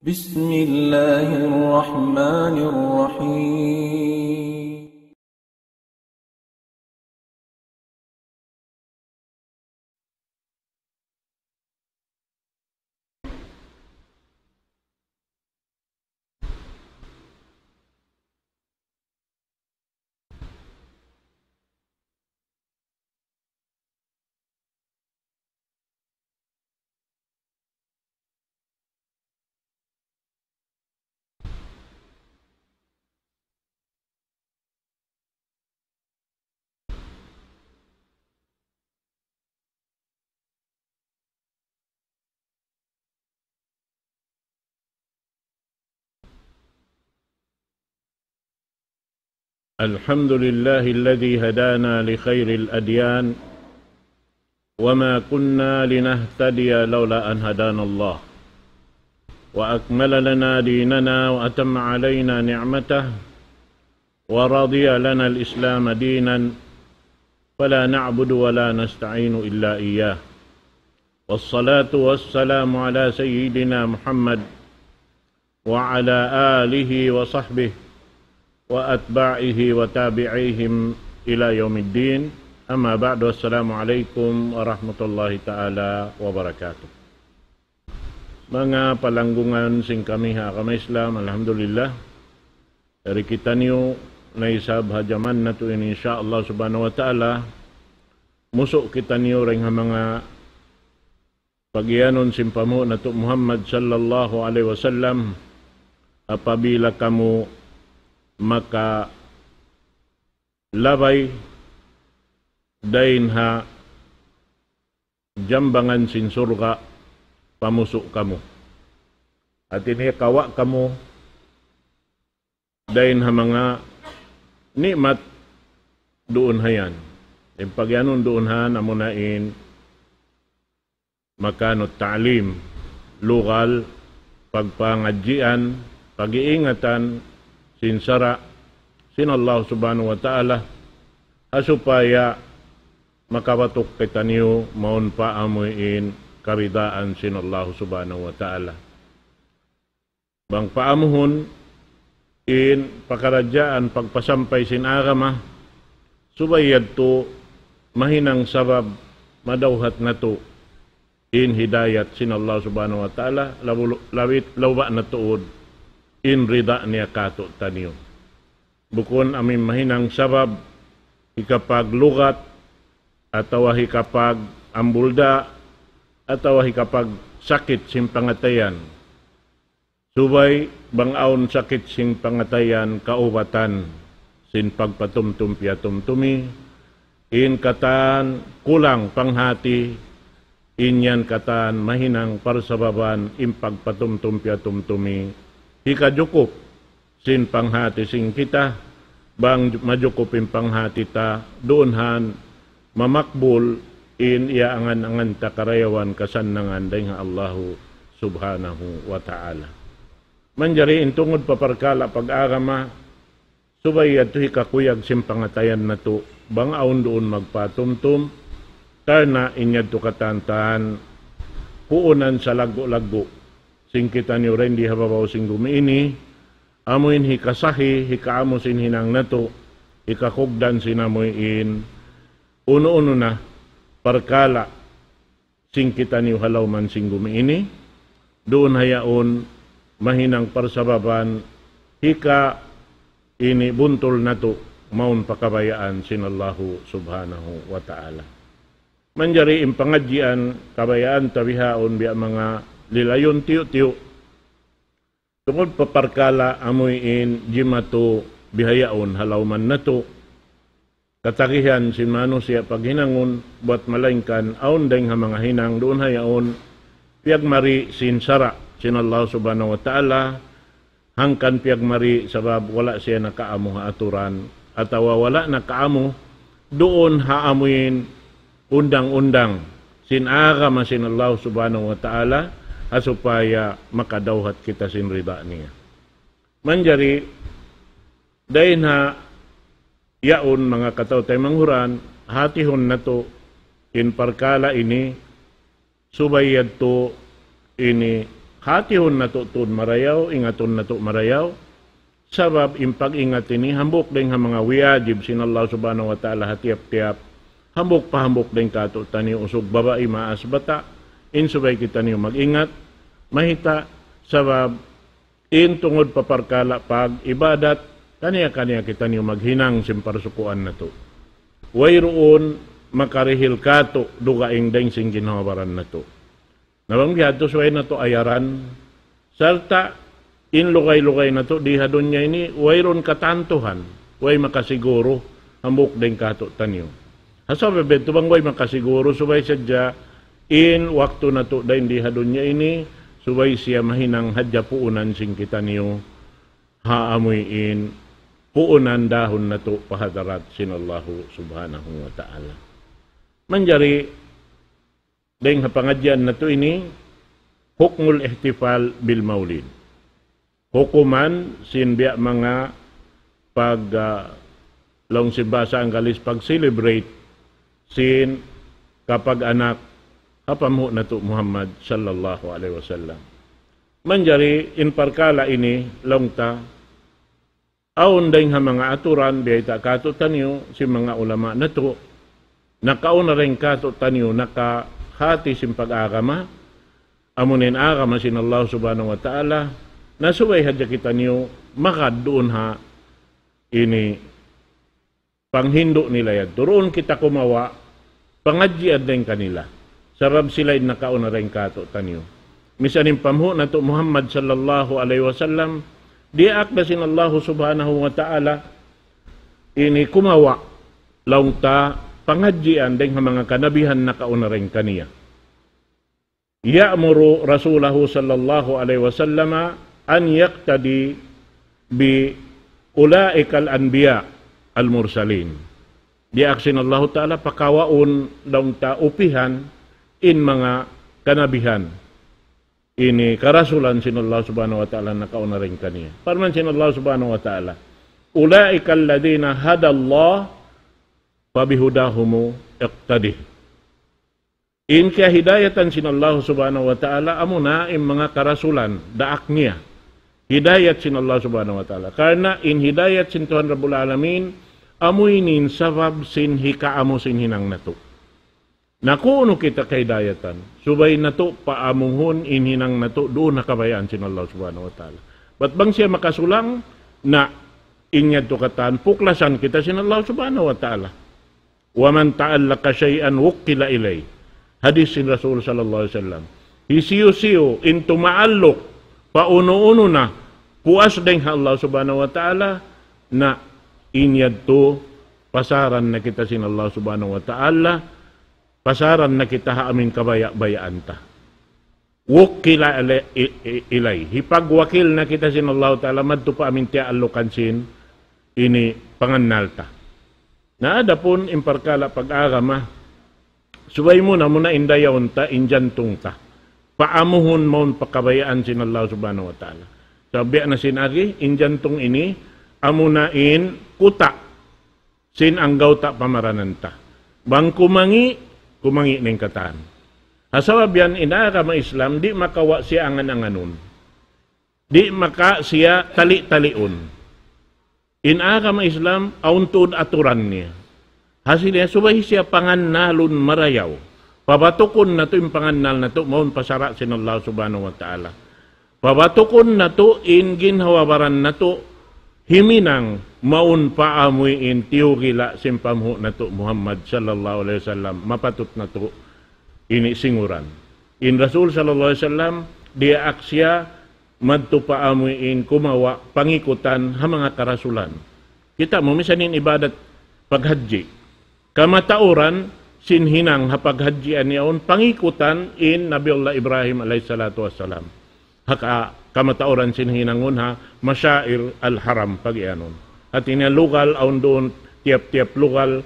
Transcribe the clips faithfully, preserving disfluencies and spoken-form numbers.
بسم الله الرحمن الرحيم. الحمد لله الذي هدانا لخير الأديان وما كنا لنهتدي لولا أن هدانا الله وأكمل لنا ديننا وأتم علينا نعمته ورضي لنا الإسلام دينا فلا نعبد ولا نستعين إلا إياه. والصلاة والسلام على سيدنا محمد وعلى آله وصحبه وأتباعه وتابعيهم إلى يوم الدين. أما بعد، السلام عليكم ورحمة الله تعالى وبركاته. Manga palanggungan sin kami ha agama Islam, alhamdulillah. Yari kitaniyu na isab ha jaman natu' ini, insya Allah subhanahu wa ta'ala, musu' kitaniyu dayn ha manga pagiyanun sin panghu' natu' Muhammad sallallahu alayhi wasallam, apabila kamu makalabay dayn ha jambangan sin surga', pamusu' kamu. Hati niya kawa' kamu dayn ha manga ni'mat duun ha yan. In pagiyanun duun ha yan, amuna in مكان التعليم, lugal pagpangadjian, pag-iingatan sin sara' sin Allah subhanahu wa ta'ala, ha supaya makabatuk kitaniyu mawn pa amuin karidaan sin Allah subhanahu wa ta'ala. Bang paamuhun in pakaradjaan pagpasampay sin agama, subay yadtu mahinang sabab madawhat natu' in hidayat sin Allah subhanahu wa ta'ala, labu-, lawit, lawba na tuud in rida niya kātu'niyu. Bukun amuin mahinang sabab hikapaglugat, atawa hikapag-ambulda, atawa hikapagsakit sin pangatayan. Subay bang awn sakit sin pangatayan kaubatan sin pagpatumtum piyatumtumi, in katan kulang panghati, in yan katan mahinang parsababan in pagpatumtum piyatumtumi, hikajukup sin panghati sin kita, bang majukup in panghati ta, duun ha yan mamakbul in iyaangan-angan ta karayawan kasannangan dayn ha Allahu subhanahu wa ta'ala. Manjari in tungud pa parkala' pag-agama, subay yadtu hikakuyag sin pangatayan natu', bang awn duun magpatumtum, karna' in yadtu katan-katan, puunan salaggu'-laggu' sin kitaniyu dayn di ha babaw sin gumi ini, amuin hikasahi, hikaamu sin hinang natu', hikakugdan sin amuin, unu-unu na, parkala', sin kitaniyu ha lawm sin gumi ini, duun ha yaun mahinang parsababan hika ini buntul natu' mawn pa kabayaan sin Allahu subhanahu wa ta'ala. Manjari in pangadjian kabayaan ta bihaun biya' manga lilayun tiyu'-tiyu'. Tungud pa parkala' amuin jimatu bihaun ha lawm natu'. Katagihan sin manusiya' paghinangun, buwat malaingkan awn dayn ha manga hinang duun ha yaun, piyagmari sin sara' sin Allah subhanahu wa ta'ala, hangkan piyagmari sabab wala' siya nakaamu ha aturan, atawa wala' nakaamu duun ha amuin undang-undang sin agama sin Allah subhanahu wa ta'ala, ha supaya makadawhat kita sin rida niya. Manjari, dayn ha yaun manga kataw-taymanghuran, hatihun natu' in parkala' ini, subay yadtu ini hatihun natu' tuud marayaw, ingatun natu' marayaw, sabab in pag-ingat ini hambuuk dayn ha manga wiyajib sin Allah Subhanahu wa Ta'ala ha tiyap-tiyap, hambuuk pa hambuuk dayn kātu'niyu usug babai maas bata', in subay kitaniyu mag-ingat, mahita, sabab in tungud pa parkala' pag-ibadat, kaniya-kaniya kitaniyu maghinang sin parsukuan natu'. Wayruun makarihil kātu' dugaing dayn sin ginhawa-baran natu'. Na bang biya' hādtu subay natu' ayaran, sarta' in lugay-lugay natu' di ha dunya ini, wayruun katantuhan, way makasiguru, hambuuk dayn kātu'niyu. Ha sabab yadtu bang way makasiguru, subay sadja in waktu natu' dayn di ha dunya ini, subay siya mahinang hadja puunan sin kitaniyu, ha amuin puunan dahun natu' pa hadarat sin Allahu Subhanahu wa Ta'ala. Manjari, dayn ha pangadjian natu' ini, hukmul ihtifal bil maulid. Hukuman sin biya' manga pag, ah, laung sin bahasa Anggalis, pag-celebrate sin kapag-anak ha panghu' natu' Muhammad sallallahu alayhi wasallam. Manjari in parkala' ini, laung ta, awn dayn ha manga aturan, biyayta' kātu'niyu, sin manga ulama natu', nakauna dayn kātu'niyu, nakahāti sin pag-agama, amu in agama sin Allah Subhanahu wa Ta'ala, na subay hadja kitaniyu magad duun ha ini panghindu' nila yadtu. Duun kita kumawa', pangadjian dayn kanila. Sabab sila in nakauna dayn kātu'niyu. Misan in panghu' natu' Muhammad sallallahu alayhi wasallam, diyaak da sin Allahu Subhanahu wa Ta'ala, ini kumawa', laung ta, pangadjian dayn ha manga kanabihan nakauna dayn kaniya. يأمر رسوله صلى الله عليه وسلم أن يقتدي بأولئك الأنبياء المرسلين. Diyaak sin Allahu Ta'ala pakawaun laung ta upihan in manga kanabihan. Ini karasulan sin Allah Subhanahu wa Ta'ala nakauna dayn kaniya. Parman sin Allah Subhanahu wa Ta'ala, أولئك الذين هدى الله فبهداهم اقتده. In kiyahidayatan sin Allah Subhanahu wa Ta'ala, amuna in manga karasulan, daak niya. Hidayat sin Allah Subhanahu wa Ta'ala. Karna' in hidayat sin Tuhan Rabbul Alamin, amu ini in sabab sin hikaamu sin hinang natu'. Na kunu' kita kahidayatan, subay natu' paamuhun in hinang natu' duun ha kabayaan sin Allah Subhanahu wa Ta'ala. Bat bang siya makasulang, na in yadtu katan, puklasan kita sin Allah Subhanahu wa Ta'ala. ومن تعلق شيئا وكل إليه. Hadis sin Rasul sallallahu alayhi wasallam. Hisiyu-siyu in tumaalluk pa unu-unu na puas dayn ha Allah Subhanahu wa Ta'ala, na in yadtu pasaran na kita sin Allah Subhanahu wa Ta'ala, pasaran na kita ha amin kabaya'-bayaan ta. وكل إلي-، إ-، إ-، إليه. Hipagwakil na kita sin Allah Ta'ala, madtu pa amin tiyaallukan sin ini pangannal ta. Na adapun in parkala' pag-agama, subay muna-muna in dayawun ta, in jantung ta. Paamuhun mawn pa kabayaan sin Allah Subhanahu wa Ta'ala. Sabab biya' na sin agi, in jantung ini, amuna in kuta' sin anggawta' pamaranan ta. Bang kumangi', kumangi' na in katan. Ha sabab yan, in agama Islam, di' makawa' siya angan-anganun. Di' maka siya tali-taliun. In agama Islam, awn tuud aturan niya. Hasil niya, subay siya pangannalun marayaw. Pabatukun natu' in pangannal natu', mawn pa sara' sin Allah Subhanahu wa Ta'ala. Pabatukun natu' in ginhawa-baran natu', himinang mawn pa amuin tiyugila' sin panghu' natu' Muhammad sallallahu alayhi wasallam, mapatut natu' ini singuran. In Rasul sallallahu alayhi wasallam, diyaak siya madtu pa amuin kumawa' pangikutan ha manga karasulan. Kita' mu misan in ibadat paghajji. Kamatauran sin hinang ha paghajjian yaun pangikutan in Nabiullah Ibrahim alayhis salatu wassalam. Ha ka-, kamatauran sin hinangun ha Mashair al-Haram pagiyanun. Hati niya lugal awn duun tiyap-tiyap lugal,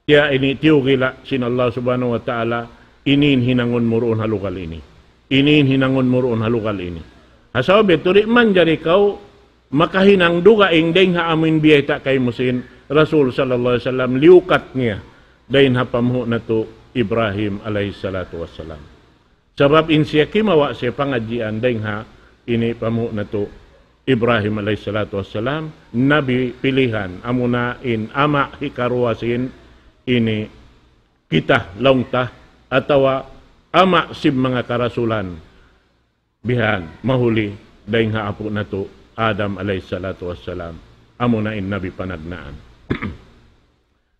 tiya ini tiyugila' sin Allah Subhanahu wa Ta'ala, ini in hinangun mu duun ha lugal ini. Ini in hinangun mu duun ha lugal ini. Ha sabab yadtu di' manjari kaw makahinang dugaing dayn ha amuin biyayta' kaymu sin Rasul sallallahu alayhi wasallam, liyukat niya dayn ha panghu' natu' Ibrahim alayhis salatu wassalam. Sabab in siya kimawa' siya pangadjian dayn ha ini pamuhu' natu' Ibrahim alayhi salatu wassalam, nabi pilihan, amuna in ama' hikaruwa sin ini kita laung ta, atawa ama' sin manga karasulan, bihan, mahuli dayn ha apu' natu' Adam alayhi salatu wassalam, amuna in nabi panagnaan.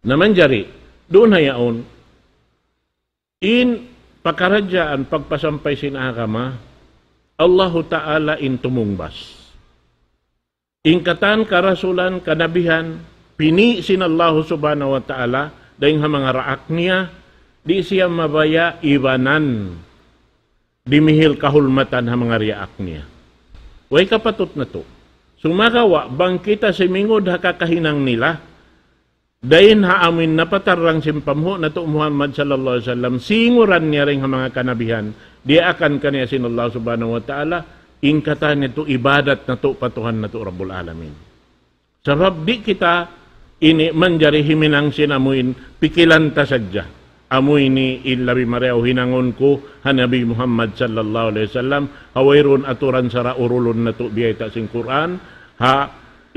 Na manjari, duun ha yaun, in pakaradjaan pagpasampay sin agama, Allahu Ta'ala in tumungbas. In katan karasulan, kanabihan, pini' sin Allahu Subhanahu wa Ta'ala, dayn ha manga raak niya, di' siya mabaya' ibanan, dimihil kahulmatan ha manga riyaak niya. Way kapatut natu'. Sumagawa', bang kita simingud ha kakahinang nila, dayn ha amuin napatarrang sin pamuhu' natu' Muhammad sallallahu alayhi wasallam, singuran niya dayn ha manga kanabihan, diyaakan kaniya sin Allah Subhanahu wa Ta'ala, in katan niya tu ibadat natu' pa Tuhan natu' Rabbul Alamin. Sabab di' kita ini manjari himinang sin amuin pikilan ta sadja. Amu ini in labi marayaw hinangun ku ha Nabi Muhammad sallallahu alayhi wasallam, ha wayruun aturan sara' urulun natu' biyayta' sin Qur'an, ha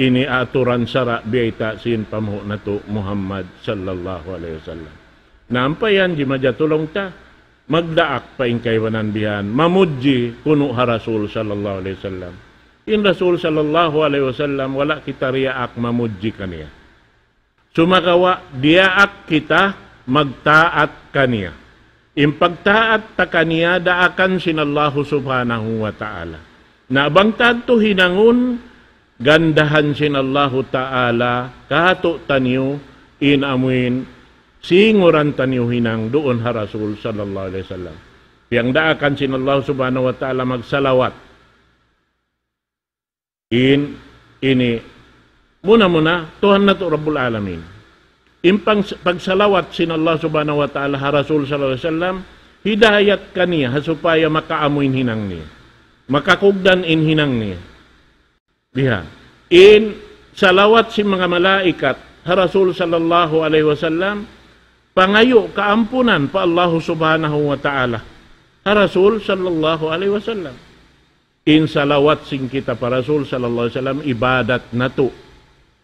ini aturan sara' biyayta' sin pamuhu' natu' Muhammad sallallahu alayhi wasallam. Na ampa yan, di' maja tulung ta, magdaak pa in kaibanan bihan, mamudji kunu' ha Rasul sallallahu alayhi wasallam. In Rasul sallallahu alayhi wasallam, wala' kita riyaak mamudji kaniya. Sumagawa', diyaak kita magtaat kaniya. In pagtaat ta kaniya, daakan sin Allahu Subhanahu wa Ta'ala. Na bang tantu hinangun, gandahan sin Allahu Ta'ala, katu' taniyu, in amuin, singuran taniyu hinang duun ha Rasul sallallahu alayhi wasallam. Piyangdaakan sin Allah Subhanahu wa Ta'ala magsalawat. In, ini, muna-muna, Tuhan natu' Rabbul Alamin. In pang-, pagsalawat sin Allah Subhanahu wa Ta'ala ha Rasul sallallahu alayhi wasallam, hidayat kaniya, ha supaya makaamu in hinang niya. Makakugdan in hinang niya. Bihan. In salawat sin manga malaikat, ha Rasul sallallahu alayhi wasallam, pangayu' kaampunan pa Allahu Subhanahu wa Ta'ala. Ha Rasul sallallahu alayhi wasallam. In salawat sin kita pa Rasul sallallahu alayhi wasallam, ibadat natu',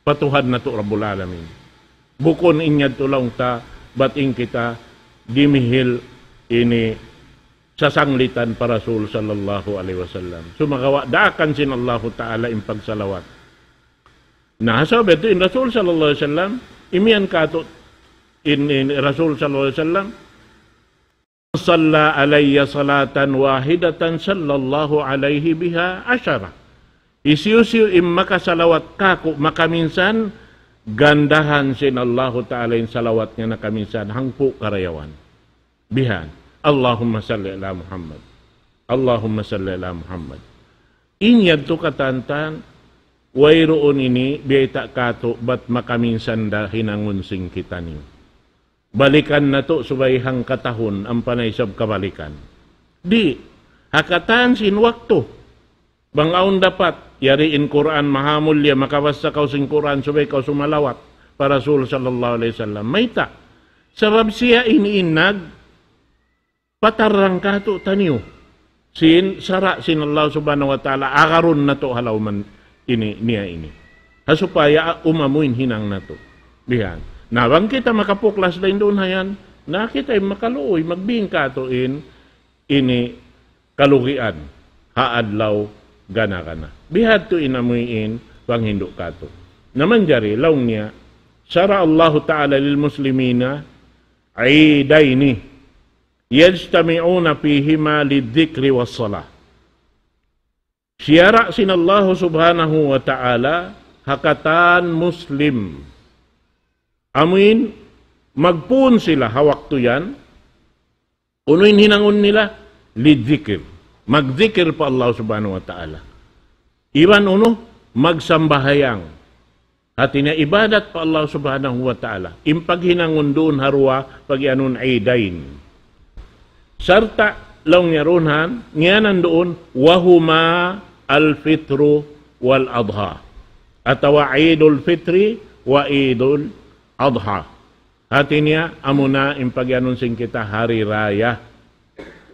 pa Tuhan natu' Rabbul Alamin. Bukun in yadtu laung ta, bat in kita dimihil ini sasanglitan pa Rasul sallallahu alayhi wasallam. Sumagawa', daakan sin Allahu Ta'ala in pagsalawat. Na, sabab yadtu in Rasul sallallahu alayhi wasallam, imiyan katu' in, in Rasul sallallahu alayhi wasallam, من صلى علي صلاة واحدة صلى الله عليه بها عشرا. Hisiyu-siyu in makasalawat kāku' makaminsan, gandahan sin Allahu Ta'ala in salawat niya nakaminsan, hangpu' karayawan. Bihan. اللهم صل على محمد. اللهم صل على محمد. In yadtu katantan, wayruun ini, biyayta' katu', bat makaminsan da hinangun sin kitaniyu. Balikan natu' subay hangkatahun, ampa na isab kabalikan. Di', ha katan sin waktu. Bang awn dapat, yari in Qur'an mahamulliya, makabassa kaw sin Qur'an, subay kaw sumalawat pa Rasul sallallahu alayhi wasallam. Mayta'? Sabab siya ini in nagpatarrang katu' taniyu. Sin sara' sin Allah Subhanahu wa Ta'ala, agarun natu' ha lawm ini, niya ini. Ha supaya umamu in hinang natu'. Bihan. Na bang kita makapuklas dayn duun ha yan, na kita in makaluuy, magbingka tuud in ini kalugian ha adlaw gana-gana. Bihadtu in amuin panghindu' katu'. Na manjari, laung niya, شرع الله تعالى للمسلمين عيدين يجتمعون فيهما للذكر والصلاة. Siyara' sin Allahu Subhanahu wa Ta'ala ha katan Muslim. Amuin, magpun sila ha waktu yan, unu in hinangun nila? Lidzikir. Magdzikir pa Allah Subhanahu wa Ta'ala. Iban unu? Magsambahayang. Hati niya ibadat pa Allah Subhanahu wa Ta'ala. In paghinangun duun ha duwa, pagiyanun idain. Sarta' laung niya duun, ngiyanan duun, وهما الفطر والأضحى. Atawa Idul Fitri wa Idul Adha. Hati niya, amuna in pagiyanun sin kita hari raya.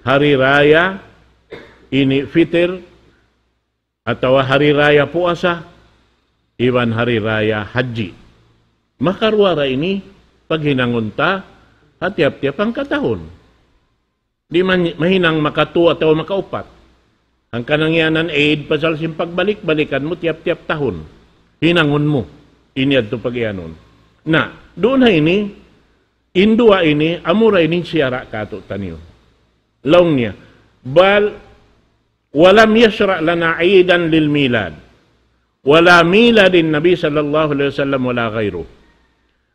Hari Raya ini Fitir, atawa Hari Raya Puasa, iban Hari Raya Haji. Makaruwa ra ini paghinangun ta ha tiyap-tiyap hangkatahun. Di' man mahinang makatu atawa makaupat. Hangkan in yaun Eid pasal sin pagbalik-balikan mu tiyap-tiyap tahun. Hinangun mu. Ini yadtu pagiyanun. Na, duun ha ini, in duwa ini, amura ini siyara' katu'taniyu. Laung niya, بل ولم يشرع لنا عيدا للميلاد ولا ميلاد النبي صلى الله عليه وسلم ولا غيره.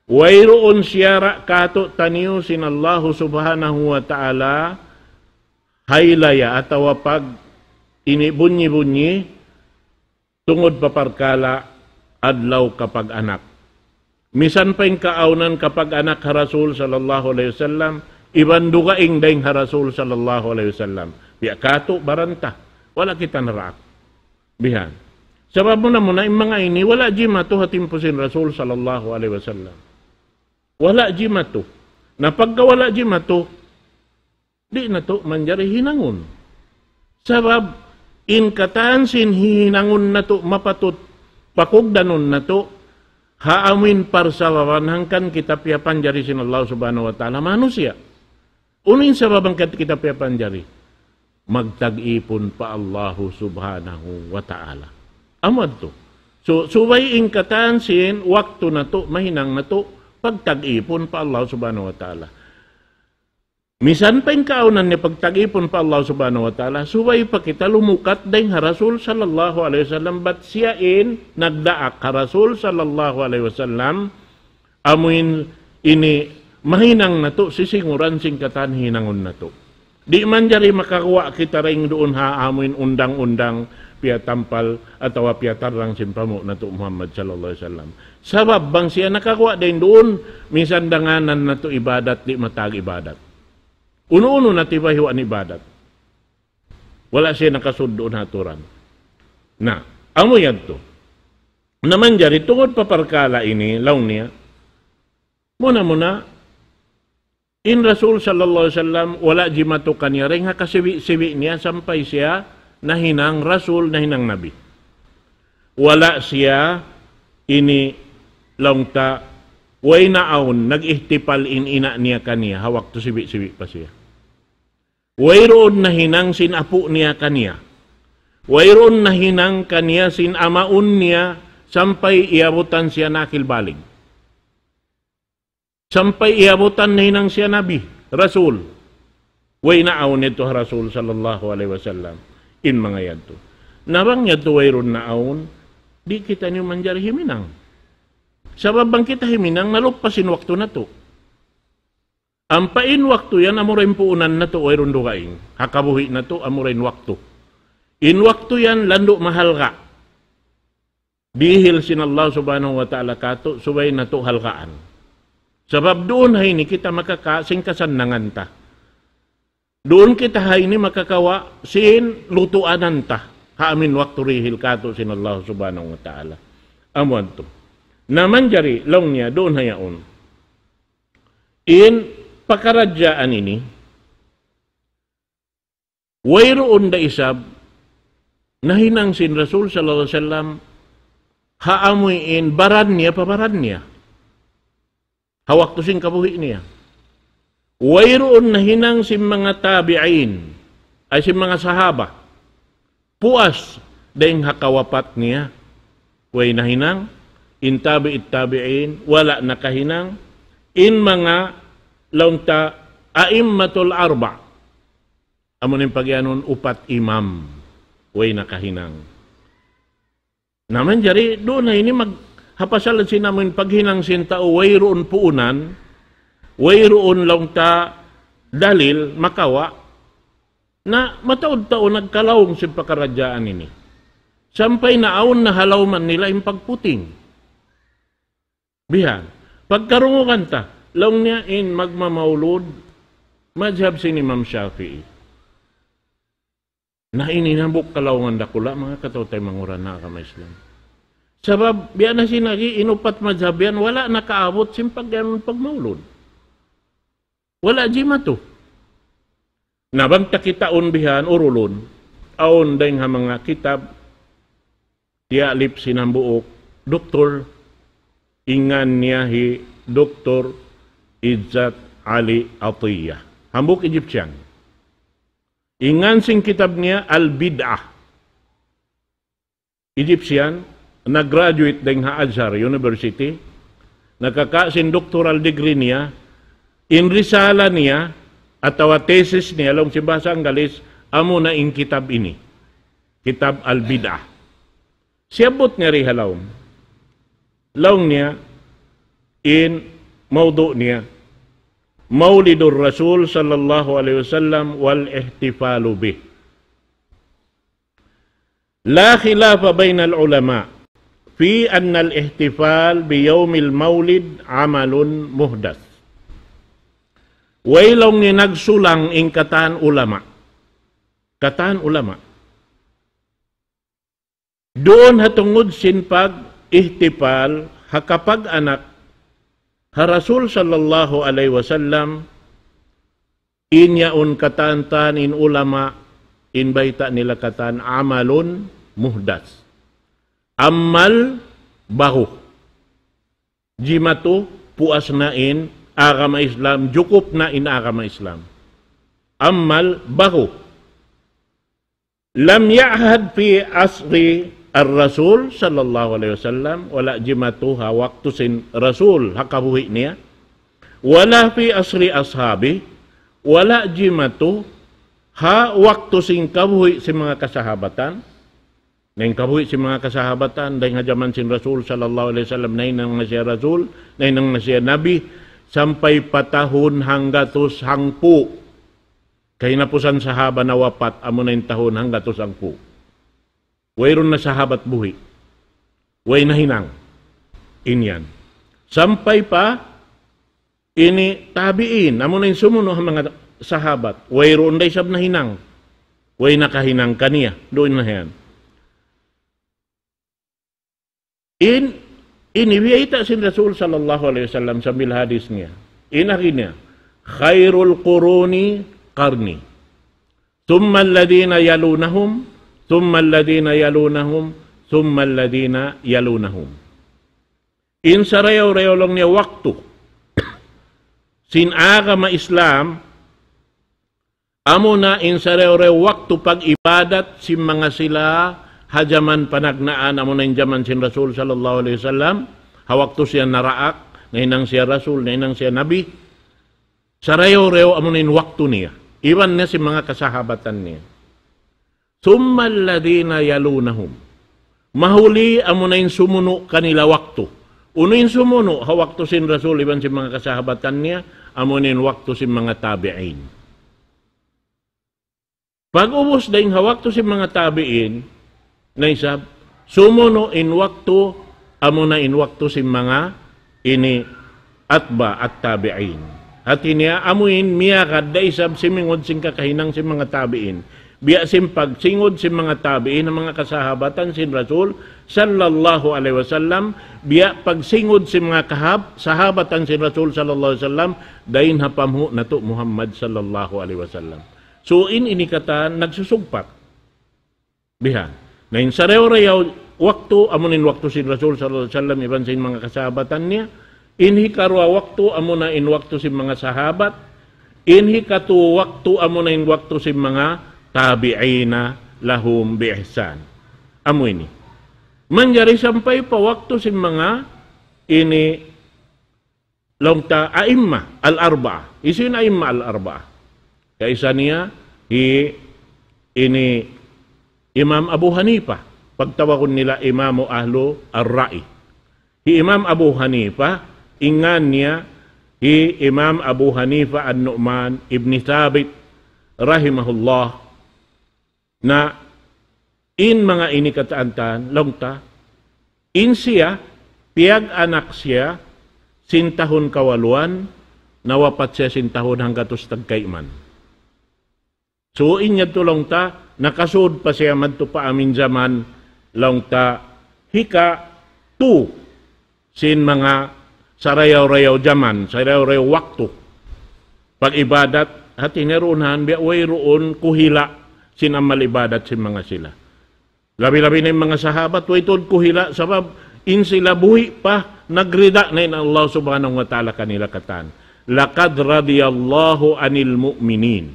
Wayruun siyara' katu'taniyu sin Allahu Subhanahu wa Ta'ala, haylaya atawa pag ini bunyi-bunyi, tungud pa parkala' adlaw kapag-anak. Misan pa in kaawnan kapag-anak ha Rasul sallallahu alayhi wasallam, iban dugaing dayn ha Rasul sallallahu alayhi wasallam. Biya' katu' baran ta, wala' kita naraak. Bihan. Sabab muna-muna, in manga ini, wala' jimatu ha timpu sin Rasul sallallahu alayhi wasallam. Wala' jimatu. Na pagka wala' jimatu, di' natu' manjari hinangun. Sabab, in katan sin hihinangun natu' mapatut pakugdanun natu', ha amuin parsababan hangkan kita piyapanjari sin Allah Subhanahu wa Ta'ala manusiya'. Unu in sabab hangkan kita piyapanjari? Magtag-ipun pa Allahu Subhanahu wa Ta'ala. Amu yadtu. So, subay in katan sin waktu natu', mahinang natu', pagtag-ipun pa Allah Subhanahu wa Ta'ala. Misan pa in kaawnan niya pagtag-ipun pa Allah Subhanahu wa Ta'ala, subay pa kita lumukat dayn ha Rasul sallallahu alayhi wasallam, bat siya in nagdaak ha Rasul sallallahu alayhi wasallam, amuin ini mahinang natu', sisinguran sin katan hinangun natu'. Di' manjari makaguwa' kita dayn duun ha amuin undang-undang piyatampal atawa piyatarrang sin pamu' natu' Muhammad sallallahu alayhi wasallam. Sabab bang siya nakaguwa' dayn duun, misan danganan natu' ibadat, di' matag ibadat. Unu-unu na tiba hiwa' in ibadat. Wala' siya nakasud duun ha aturan. Na, amu yadtu. Na manjari tungud pa parkala' ini, laung niya, muna-muna, in Rasul sallallahu alayhi wasallam, wala' jimatu kaniya, dayn ha kasibi'-sibi' niya, sampay siya nahinang Rasul, nahinang Nabi. Wala' siya ini laung ta, way naawn, nag-ihtipal in ina' niya kaniya, ha waktu sibi'-sibi' pa siya. Wayruun nahinang sin apu' niya kaniya. Wayruun nahinang kaniya sin amaun niya sampay iyabutan siya nakil balig. Sampay iyabutan nahinang siya nabi, rasul. Way naawn yadtu ha Rasul sallallahu alayhi wasallam. In manga yadtu. Na bang yadtu wayruun naawn, di' kitaniyu manjari himinang. Sabab bang kita himinang, naluppas in waktu natu'. Ampa in waktu yan, amura in puunan natu', wayruun dugaing. Ha kabuhi' natu', amura in waktu. In waktu yan, landu' mahalga'. Dihil sin Allah Subhanahu wa Ta'ala katu', subay natu' halgaan. Sabab duun ha ini kita makaka-, sin kasannangan ta. Duun kita ha ini makakawa' sin lutuanan ta. Ha amin waktu dihil katu' sin Allah Subhanahu wa Ta'ala. Amu yadtu. Na manjari, laung niya, duun ha yaun. In pakaradjaan ini, wayruun da isab nahinang sin Rasul sallallahu alayhi wasallam ha amuin baran niya pa baran niya. Ha waktu sin kabuhi' niya. Wayruun nahinang sin manga tabi'in, ay sin manga sahaba. Puas dayn ha kawapat niya. Way nahinang, in tabi'it tabi'in, wala' nakahinang, in manga laung ta a'immatul arba'. Amu in pagiyanun upat imam, way nakahinang. Na manjari, duun na ini mag-, ha pasal sin amuin paghinang sin tau, wayruun puunan, wayruun laung ta dalil, makawa', na mataud-taud nagkalaung sin pakaradjaan ini. Sampay naawn na ha lawm nila in pagputing. Bihan. Pagkarungugan ta, laung niya in magmamaulud, madhab sin Imam Shafi'i. Na ini hambuuk kalaungan dakula', manga kataw-taymanghuran ha agama Islam. Sabab, biya' na sin agi, in upat madhab yan, wala' nakaabut sin pag-, pagmaulud. Wala' jimatu. Na bang ta kitaun bihan urulun, awn dayng ha manga kitab tiyalip sin hambuuk doktor, in ngan niya hi Doktor Izzat Ali Atiyah. Hambuuk Egyptian. In ngan sin kitab niya Al-Bid'ah. Egyptian, nag-graduate dayng ha Azhar University, nakaka' sin doctoral degree niya, in risala niya, atawa thesis niya, laung sin bahasa Anggalis, amuna in kitab ini. Kitab Al-Bid'ah. Siyabbut niya di ha lawm. Laung niya, in mawdu' niya, Mawlidur Rasul sallallahu alayhi wasallam wal ihtifalu bih. لا خلاف بين العلماء في أن الاحتفال بيوم المولد عمل محدث. Way laung niya nagsulang in katan ulama. Katan ulama. Duun ha tungud sin pag-ihtifal ha kapag-anak ha Rasul sallallahu alayhi wasallam, in yaun katan-katan in ulama, in bayta' nila katan amalun muhdas. Amal baru. Jimatu puas na in agama Islam, jukup na in agama Islam. Amal baru. لم يعهد في عصر الرسول صلى الله عليه وسلم, wala' jimatu ha waktu sin Rasul ha kabuhi' niya, ولا في عصر أصحابه, wala' jimatu ha waktu sin kabuhi' sin manga kasahabatan. Na in kabuhi' sin manga kasahabatan, dayng ha jaman sin Rasul sallallahu alayhi wasallam, nahinang na siya Rasul, nahinang na siya Nabi, sampay pa tahun hanggatus hangpu'. Kahinapusan sahaba nawapat, amuna in tahun hanggatus hangpu'. Wayruun na sahabat buhi'. Way nahinang. In yan. Sampay pa ini tabi'in, amuna in sumunu' ha manga sahabat. Wayruun da isab nahinang. Way nakahinang kaniya. Duun na yan. In, ini biyayta' sin Rasul sallallahu alayhi wasallam sambil hadis niya. In agi niya, خير القرون قرني ثم الذين يلونهم ثم الذين يلونهم ثم الذين يلونهم. In sarayaw-rayaw laung niya waktu sin agama Islam, amuna in sarayaw-rayaw waktu pag-ibadat sin manga sila ha jaman panagnaan, amuna in jaman sin Rasul sallallahu alayhi wasallam, ha waktu siya naraak, nahinang siya Rasul, nahinang siya Nabi. Sarayaw-rayaw amuna in waktu niya. Iban na sin manga kasahabatan niya. ثم الذين يلونهم. Mahuli amuna in sumunu' kanila waktu. Unu in sumunu' ha waktu sin Rasul iban sin manga kasahabatan niya, amuna in waktu sin manga tabi'in. Pag-ubus dayng ha waktu sin manga tabi'in, na isab, sumunu' in waktu, amuna in waktu sin manga ini atba' at-tabi'in. Hati niya, amu in miyagad da isab simingud sin kakahinang sin manga tabi'in. Biya' sin pagsingud sin manga tabi'in, manga kasahabatan sin Rasul, sallallahu alayhi wasallam, biya' pagsingud sin manga kahab-, sahabatan sin Rasul, sallallahu alayhi wasallam, dayn ha panghu' natu' Muhammad, sallallahu alayhi wasallam. So, in ini katan nagsusugpat. Bihan. Na in sarayaw-rayaw waktu, amuna in waktu sin Rasul sallallahu alayhi wasallam, iban sin manga kasahabatan niya. In hikaruwa waktu, amuna in waktu sin manga sahabat. In hikatu waktu, amuna in waktu sin manga tabi'ina lahum bi ihsan. Amu ini. Manjari sampay pa waktu sin manga ini laung ta a'imma al-arba'a. Hisiyu in a'imma al-arba'a? Kaisa niya, hi ini Imam Abu Hanifa. Pagtawagun nila Imamu Ahlu Ar-Ra'i. Hi Imam Abu Hanifa, in ngan niya, hi Imam Abu Hanifa An-Nu'man ibn Thabit, rahimahullah. Na in manga ini katan-katan, laung ta, in siya, piyag-anak siya, sin tahun kawaluan, nawapat siya sin tahun hanggatus tagkayman. So, in yadtu laung ta, nakasud pa siya madtu pa amin jaman, laung ta, hika tu, sin manga sarayaw-rayaw jaman, sarayaw-rayaw waktu. Pag-ibadat, Hati niya duun han, biya' wayruun kuhila' sin amal ibadat sin manga sila. Labi-labi na in manga sahabat, way tuud kuhila', sabab in sila buhi' pa, nagrida na in Allah Subhanahu wa Ta'ala kanila katan. لقد رضي الله عن المؤمنين.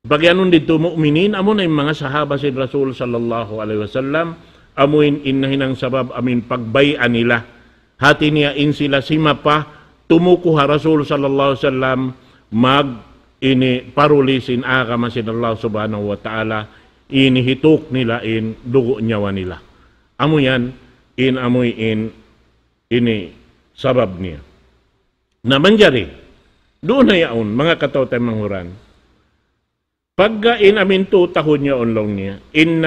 Pag-iyanun didtu mu'minin, amu na in manga sahaba sin Rasul sallallahu alayhi wasallam, amu in, in nahinang sabab amu in pagbay'a nila. Hati niya in sila simapa, tumuku ha Rasul sallallahu alayhi wasallam, mag ini paruli sin agama sin Allah Subhanahu wa Ta'ala, ini hituk nila in dugu' nyawa nila. Amu yan, in amu in, ini sabab niya. Na manjari, duun na yaun, manga kataw-taymanghuran. Pagga in amu in tū tahun yaun laung niya, إن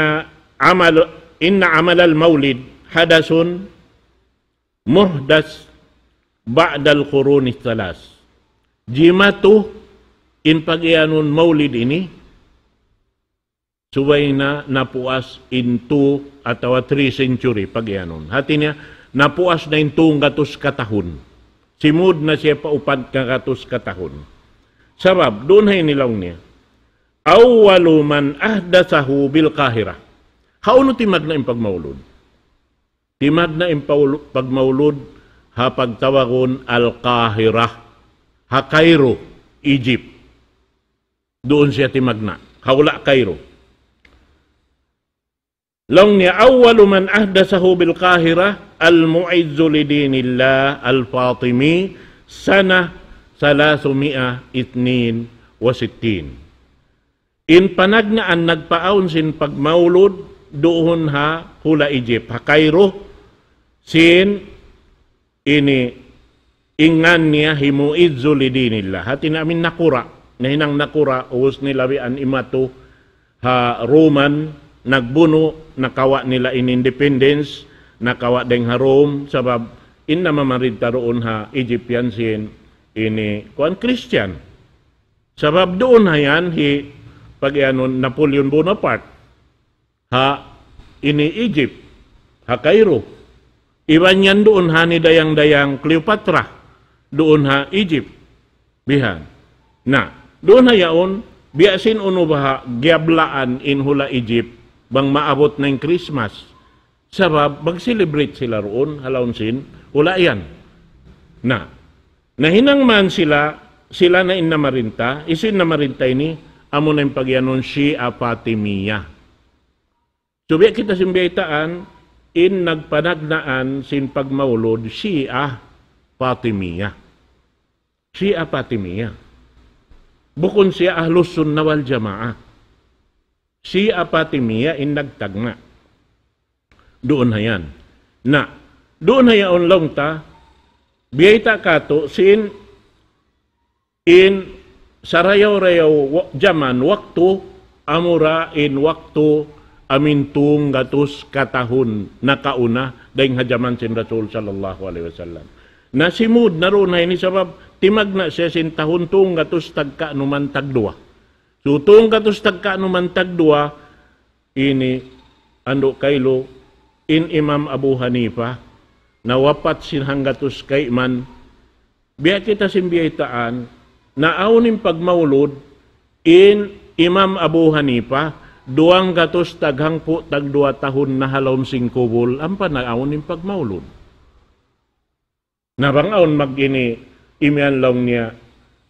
عمل، إن عمل المولد حدث محدث بعد القرون الثلاث. Jimatu in pag-iyanun maulid ini, subay na napuas in tū atawa three century pag-iyanun. Hati niya, napuas na in tū gatus katahun. Simud na siya pa upat gatus katahun. Sabab, duun ha ini laung niya. أول من أحدثه بالقاهرة. Hawnu timagna' in pagmaulud? Timagna' in paulu-, pagmaulud ha pagtawagun Al-Qahira, ha Cairo, Egypt. Duun siya timagna'. Ha hula' Cairo. Laung niya, أول من أحدثه بالقاهرة المعز لدين الله الفاطمي سنة ثلاثمائة واثنين وستين. In panagnaan nagpaawn sin pagmaulud duun ha hula' Egypt, ha Cairo, sin ini in ngan niya hi Mu'izzu li dinillah. Hati niya amu in nakura', nahinang nakura', ubus nila biya' imatu ha Roman, nagbunu', nakawa' nila in independence, nakawa' dayng ha Rome, sabab in namamarinta duun ha Egyptian sin ini, kuwan, Christian. Sabab duun ha yan hi pag-iyanun Napoleon Bonaparte. Ha ini Egypt, ha Cairo. Iban yan duun ha ni dayang-dayang Cleopatra, duun ha Egypt. Bihan. Na, duun ha yaun, biya' sin unu baha' giyablaan in hula' Egypt, bang maabut na in Christmas. Sabab, mag-celebrate sila duun, ha lawm sin hula' yan. Na, nahinang man sila, sila na in namarinta, hisiyu in namarinta ini, amu na in pag-iyanun Shia Fatimiyya. So, biya' kita sin biyaytaan, in nagpanagnaan sin pagmaulud, Shia Fatimiyya. Shia Fatimiyya. Bukun siya Ahlus Sunnah wal Jamaah. Shia Fatimiyya in nagtagna'. Duun ha yan. Na, duun ha yaun laung ta, biyayta' katu', sin in sarayaw-rayaw wa-, jaman, waktu, amura in waktu amu in tū gatus katahun nakauna, dayng ha jaman sin Rasul sallallahu alayhi wasallam. Na simud na duun ha ini sabab, timagna' siya sin tahun tū gatus tagkaanuman tagduwa. So, tū gatus tagkaanuman tagduwa, ini, andu' kailu, in Imam Abu Hanifa, nawapat sin hanggatus kayman, biya' kita sin biyaytaan, naawn in pagmaulud, in Imam Abu Hanifa, duwang gatus taghangpu' tagduwa tahun na ha lawm sin kubul, ampa naawn in pagmaulud. Na bang awn mag-ini, imiyan laung niya,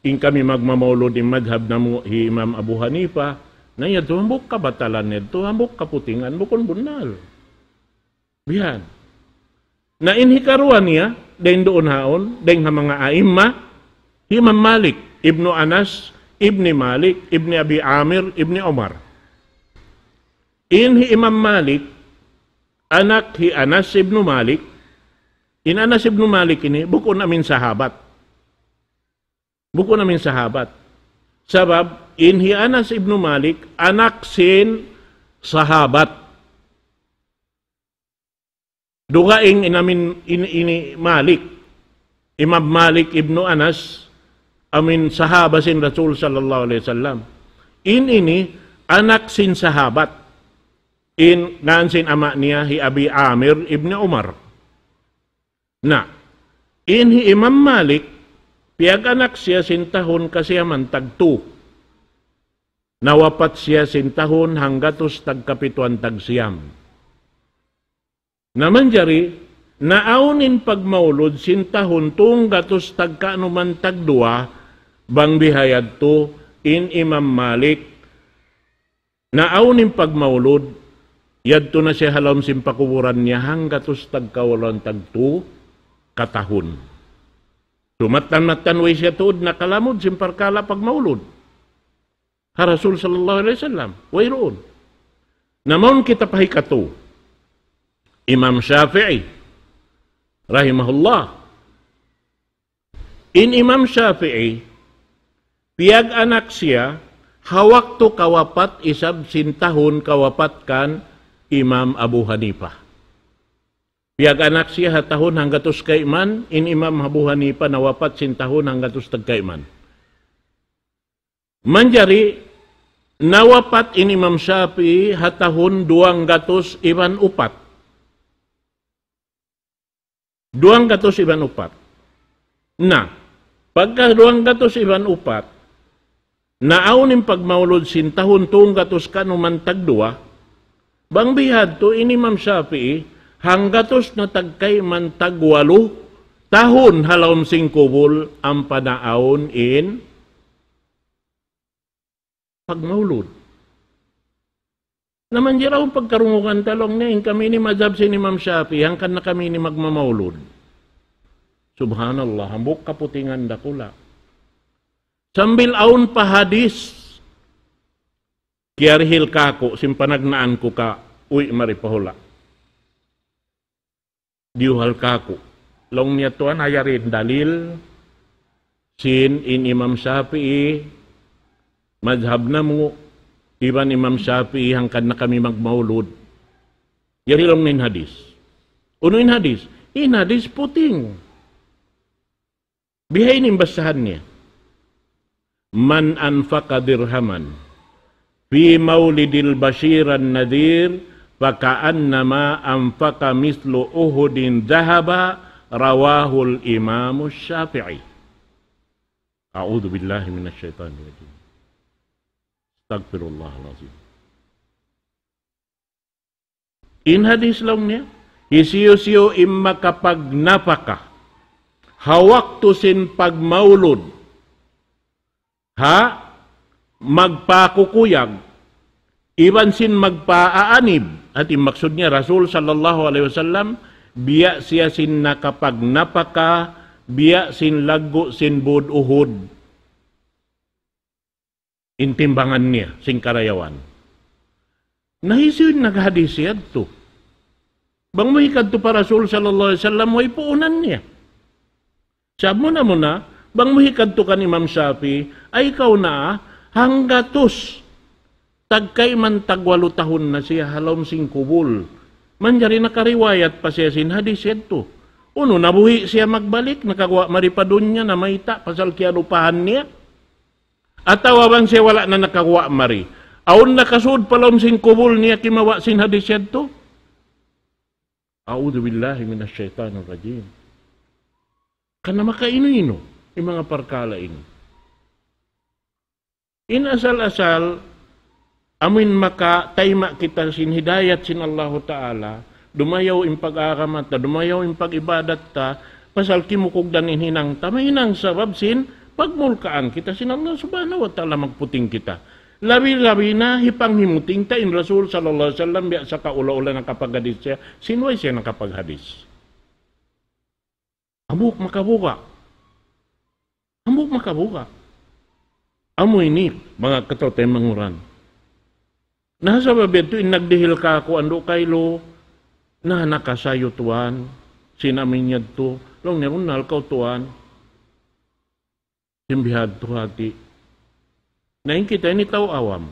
in kami magmamaulud in madhab namu' hi Imam Abu Hanifa, na yadtu hambuuk kabatalan yadtu, hambuuk kaputingan, bukun bunnal. Bihan. Na in hikaruwa niya, dayng duun haun, dayng ha manga a'imma, hi Imam Malik, ibnu Anas, ibni Malik, ibni Abi Amir, ibni Umar. In hi Imam Malik, anak hi Anas ibnu Malik, in Anas ibnu Malik ini, bukun amu in sahabat. Bukun amu in sahabat. Sabab, in hi Anas ibnu Malik, anak sin sahabat. Dugaing in amu in, in, ini Malik. Imam Malik ibnu Anas, amu in sahaba sin Rasul sallallahu alayhi wasallam. In ini, anak sin sahabat. In ngan sin ama' niya hi Abi Amir ibn Umar. Na, in hi Imam Malik, Piyag-anak siya sin tahun kasiyaman tagtu. Nawapat siya sin tahun hanggatus tagkapituan tagsiyam. Na manjari, naawn in pagmaulud sin tahun tunggatus tagkaanuman tagduwa, bang biha yadtu in Imam Malik. Naawn in pagmaulud, yadtu na siya ha lawm sin pakuburan niya hanggatus tagkawaluan tagtu katahun. Sumattan-mattan way siya tuud nakalamud sin parkala' pagmaulud ha Rasul sallallahu alayhi wasallam. Wayruun. Na mawn kita pa hikatu. Imam Shafi'i, rahimahullah. In Imam Shafi'i, piyag-anak siya, ha waktu kawapat isab sin tahun kawapat kan Imam Abu Hanifa. Piyag-anak siya ha tahun hanggatus kayman, in Imam Abu Hanifa nawapat sin tahun hanggatus tagkayman. Manjari, nawapat in Imam Shafi'i ha tahun duwanggatus iban upat. Duwanggatus iban upat. Na, pagka duwanggatus iban upat, naawn in pagmaulud sin tahun tunggatus kaanuman tagduwa, bang bihadtu in Imam Shafi'i, hanggatus na tagkayman tagwalu tahun ha lawm sin kubul ampa naawn in pagmaulud. Na manjari awn pagkarungugan ta laung niya, in kami ini madhab sin Imam Shafi'i, hangkan na kami ini magmamaulud. Subhanallah, hambuuk kaputingan dakula'. Sambil awn pa hadis, kiyarihil kāku', sin panagnaan ku ka, uwi' mari pa hula'. Diyuhal kāku'. Laung niya tuwan, ha yari in dalil, sin in Imam Shafi'i, madhab namu', iban Imam Shafi'i, hangkan na kami magmaulud. Yari laung niya in hadis. Unu in hadis? In hadis puting. Bihaini in basahan niya. من أنفق درهما في مولد البشير النذير فكأنما أنفق مثل أحد ذهبا، رواه الإمام الشافعي. أعوذ بالله من الشيطان الرجيم. أستغفر الله العظيم. In hadis laung niya, hisiyu-siyu in makapagnapaka ha waktu sin pagmaulud, ha magpakukuyag, iban sin magpaaanib, hati maksud niya Rasul sallallahu alayhi wasallam, biya' siya sin nakapagnapaka, biya' sin laggu' sin būd Uhud. In timbangan niya, sin karayawan. Na hisiyu in naghadis yadtu? Bang mu hikadtu pa Rasul sallallahu alayhi wasallam, way puunan niya. Sa' muna-muna, bang mu hikadtu kan Imam Shafi'i, ay kaw na, hanggatus tagkayman tagwalu tahun na siya ha lawm sin kubul. Manjari nakariwayat pa siya sin hadis yadtu. Unu, nabuhi' siya magbalik, nakaguwa' mari pa dunya, namayta', pasal kiyalupahan niya. Atawa bang siya wala' na nakaguwa' mari, awn nakasud pa lawm sin kubul niya kimawa' sin hadis yadtu? أعوذ بالله من الشيطان الرجيم. Karna' makainu-inu in manga parkala' ini. In asal-asal, amuin makataima' kita sin hidayat sin Allahu Ta'ala, dumayaw in pag-agama ta, dumayaw in pag-ibadat ta, pasal kimukugdan in hinang ta, mahinang sabab sin pagmulkaan kita sin Allah Subhanahu wa Ta'ala, magputing kita. Labi-labi na hipanghimuting ta in Rasul sallallahu alayhi wasallam, biya' sa kaula-ula nakapaghadis siya, sin way siya nakapaghadis. Hambuuk makabuga'. Hambuuk makabuga'. Amu ini, manga kataw-taymanghuran. Na sabab yadtu in nagdihil kāku' andu' kaylu, na nakasayu tuwan, sin amin yadtu, laung niya, "Bunnal kaw tuwan." Sin bihadtu hati. Na in kita ini tau awam.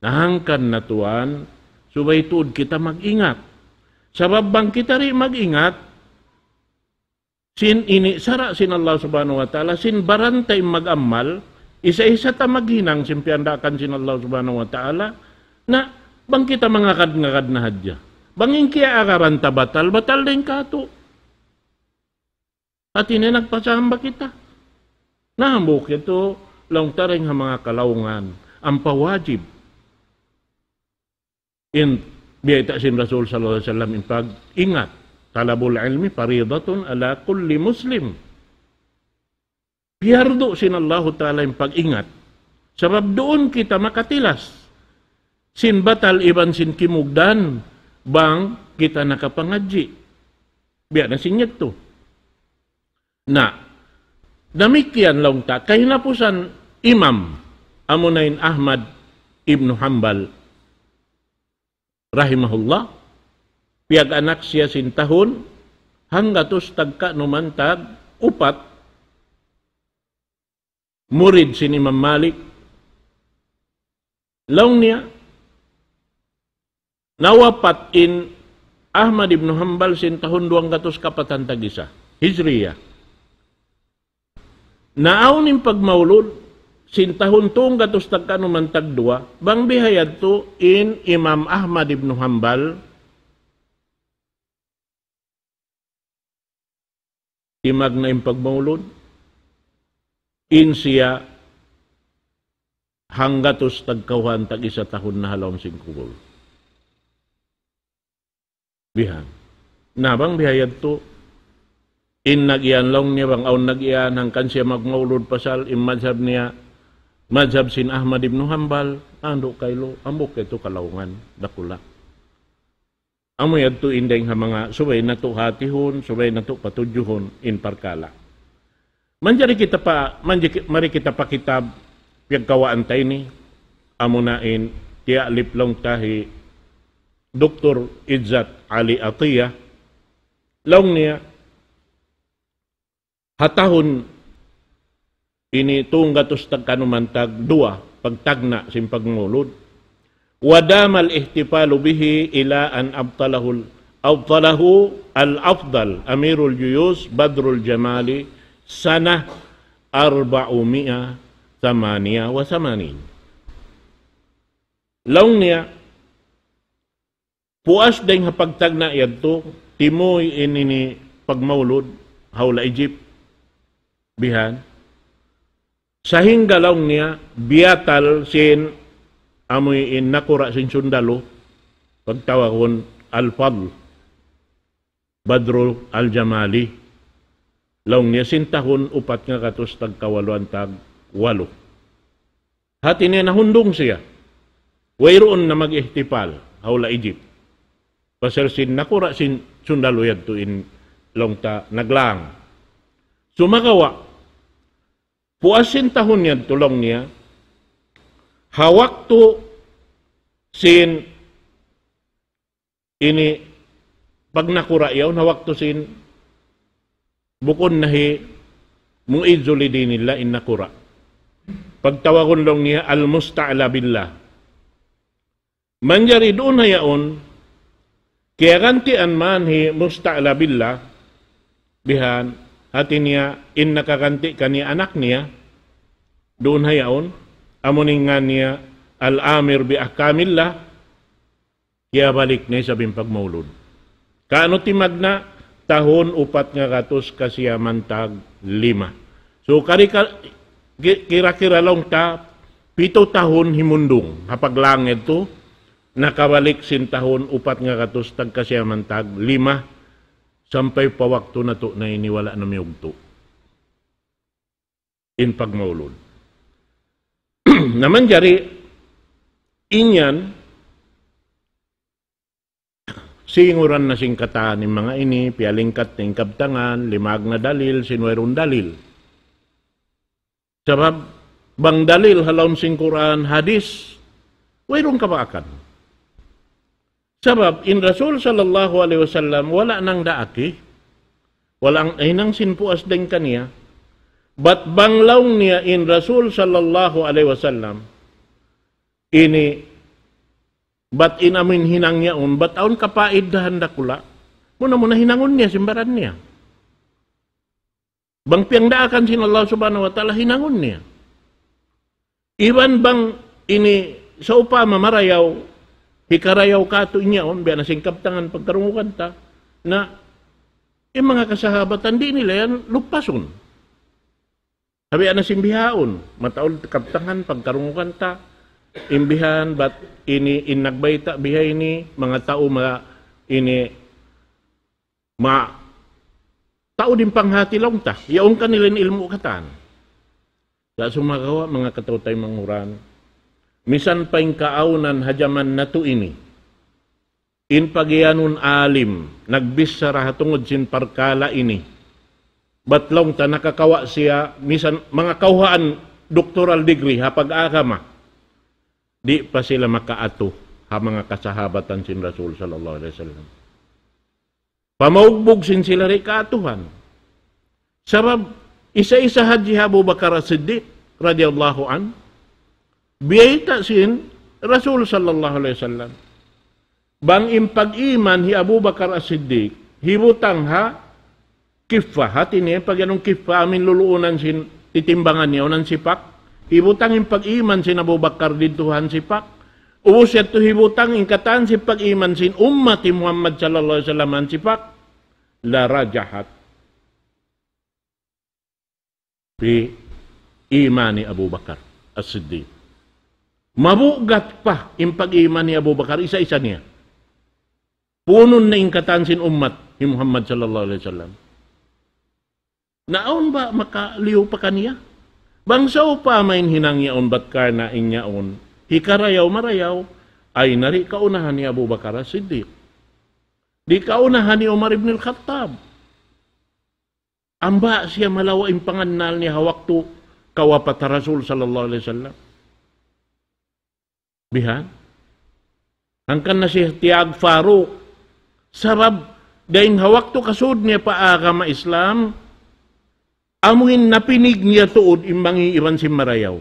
Na hangkan na tuwan, subay tuud kita mag-ingat. Sabab bang kita di' mag-ingat, sin ini sara' sin Allah Subhanahu wa Ta'ala, sin baran ta in mag-amal, isa-isa ta maghinang sin piyandaakan sin Allah Subhanahu wa Ta'ala, na bang kita mangagad-ngagad na hadja. Bang in kiyaagaran ta batal, batal da in kātu'. Hati niya nagpasamba kita. Na hambuuk yadtu, laung ta dayn ha manga kalaungan, ampa wajib. In biyayta' sin Rasul sallallahu alayhi wasallam in pag-ingat. طلب العلم فريضة على كل مسلم. Piyardu sin Allahu Ta'ala in pag-ingat. Sabab duun kita makatilas sin batal iban sin kimugdan bang kita nakapangadji'. Biya' na sin yadtu. Na, damikkiyan laung ta, kahinapusan imam, amuna in Ahmad ibn Hanbal, rahimahullah, piyag-anak siya sin tahun hanggatus tagkanuman tag upat, murid sin Imam Malik. Laung niya, nawapat in Ahmad ibn Hanbal sin tahun duwanggatus kapatan tag-isa, Hijriya. Naawn in pagmaulud sin tahun tunggatus tagkanuman tagduwa, bang bihayadtu in Imam Ahmad ibn Hanbal, timagna' in pagmaulud, in siya hanggatus tagkawhaan tag-isa tahun na ha lawm sin kubul. Bihan. Na bang bihayadtu, in nag-iyan laung niya bang awn nag-iyan, hangkan siya magmaulud pasal, in madhab niya, madhab sin Ahmad ibn Hanbal, andu' kailu, hambuuk yadtu kalaungan, dakula'. Amu yadtu in dayng ha manga subay natu' hatihun, subay natu' patudjuhun in parkala'. Manjari kita pa, manjari, mari kita pa kitab piyagkawaan ta ini, amuna in tiyalip laung ta hi Doktor Izzat Ali Atiyah, laung niya, ha tahun ini tunggatus tagkanuman tagduwa pagtagna' sin pagmaulud. ودام الاحتفال به إلى أن أبطله، أبطله الأفضل أمير الجيوش بدر الجمالي سنة أربعمائة ثمانية وثمانين. Laung niya, puas dayng ha pagtagna' yadtu, timuy in ini pagmaulud, ha hula' Egypt, bihan. Sahingga laung niya, biyatal sin amuin nakura' sin sundalu, pagtawagun Al-Fadl, Badru Al-Jamali. Laung niya sin tahun upat ngagatus tagkawaluan tagwalu. Hati niya nahundung siya. Wayruun na mag-ihtifal, ha hula' Egypt. Pasal sin nakura' sin sundalu yadtu in laung ta naglaang. Sumagawa', puas sin tahun yadtu laung niya, ha waktu sin ini pagnakura' yaun, ha waktu sin bukun na hi Mu'izzu li dinillah in nakura'. Pagtawagun laung niya Al-Musta'la Billah. Manjari duun ha yaun, kiyagantian man hi Musta'la Billah, bihan, hati niya in nakaganti' kaniya anak niya, duun ha yaun, amu in ngan niya Al-Amir bi Ahkamillah, kiyabalik na isab in pagmaulud. Kaunu timagna', tahun upat ngagatus kasiyaman taglima. So, kari ka, ki-, kira-kira laung ta, pitu tahun himundung. Ha paglaang yadtu, nakabalik sin tahun upat ngagatus tagkasiyaman taglima, sampay pa waktu natu' na ini wala' na miyugtu' in pagmaulud. Na manjari, in yan, singuran na sin katan in manga ini, piyalingkat na in kabtangan, limag na dalil, sin wayruun dalil. Sabab, bang dalil ha lawm sin Qur'an, hadis, wayruun kabaakan. Sabab, in Rasul sallallahu alayhi wasallam, wala' nang daak, wala' nang hinang sin puas dayn kaniya. Bat bang laung niya in Rasul sallallahu alayhi wasallam, ini, bat in amin hinang yaun, bat awn kapaiddahan dakula', muna-muna hinangun niya, sin baran niya. Bang piyagdaakan sin Allah Subhanahu wa Ta'ala, hinangun niya. Iban bang ini sawpama marayaw, hikarayaw katu' in yaun, biya' na sin kabtangan pagkarungugan ta, na in manga kasahabatan di' nila yan lupasun. Sabi ana sin bihaun, mataud kabtangan, pagkarungugan ta, in bihan, bat ini, in nagbayta' biha ini, manga tau ma, ini, ma, tau din panghati laung ta, yaun kanila in ilmu' katan. Sa' sumagawa', manga kataw-taymanghuran, misan pa in kaawnan ha jaman natu' ini, in pagiyanun alim, nagbichara ha tungud sin parkala' ini. Bat laung ta nakakawa' siya, misan manga kawhaan doctoral degree ha pag-agama. Di' pa sila makaatu ha manga kasahabatan sin Rasul sallallahu alayhi wasallam. Pamaugbug sin sila di' kaatuhan. Sabab, isa-isa hadji hi Abu Bakar As-Siddiq, radiyallahu anhu, biyayta' sin Rasul sallallahu alayhi wasallam. Bang in pag-iman hi Abu Bakar As-Siddiq, hibutang ha kiffa, hati niya, pag-iyanun kiffa, amu in luluunan sin titimbangan niya, unan sipak. Hibutang in pag-iman sin Abu Bakar didtu ha sipak. Ubus yadtu hibutang in katan sin pag-iman sin ummat hi Muhammad sallallahu alayhi wasallam ha sipak. La rajahat fi imani Abu Bakar As-Siddiq. Mabugat pa in pag-iman hi Abu Bakar, isa-isa niya. Punun na in katan sin ummat hi Muhammad sallallahu alayhi wasallam. Na awn ba makaliyu pa kaniya? Bang sawpama in hinang yaun bat karna' in yaun hikarayaw-marayaw, ay na di' kaunahan hi Abu Bakar As-Siddiq. Di' kaunahan hi Umar ibn al-Khattab. Amba siya malawa' in pangannal niya ha waktu kawapat ha Rasul sallallahu alayhi wasallam. Bihan. Hangkan na siya tiyag Faruq. Sabab, dayn ha waktu kasud niya pa agama Islam, amu in napinig niya tuud in mangi' iban sin marayaw.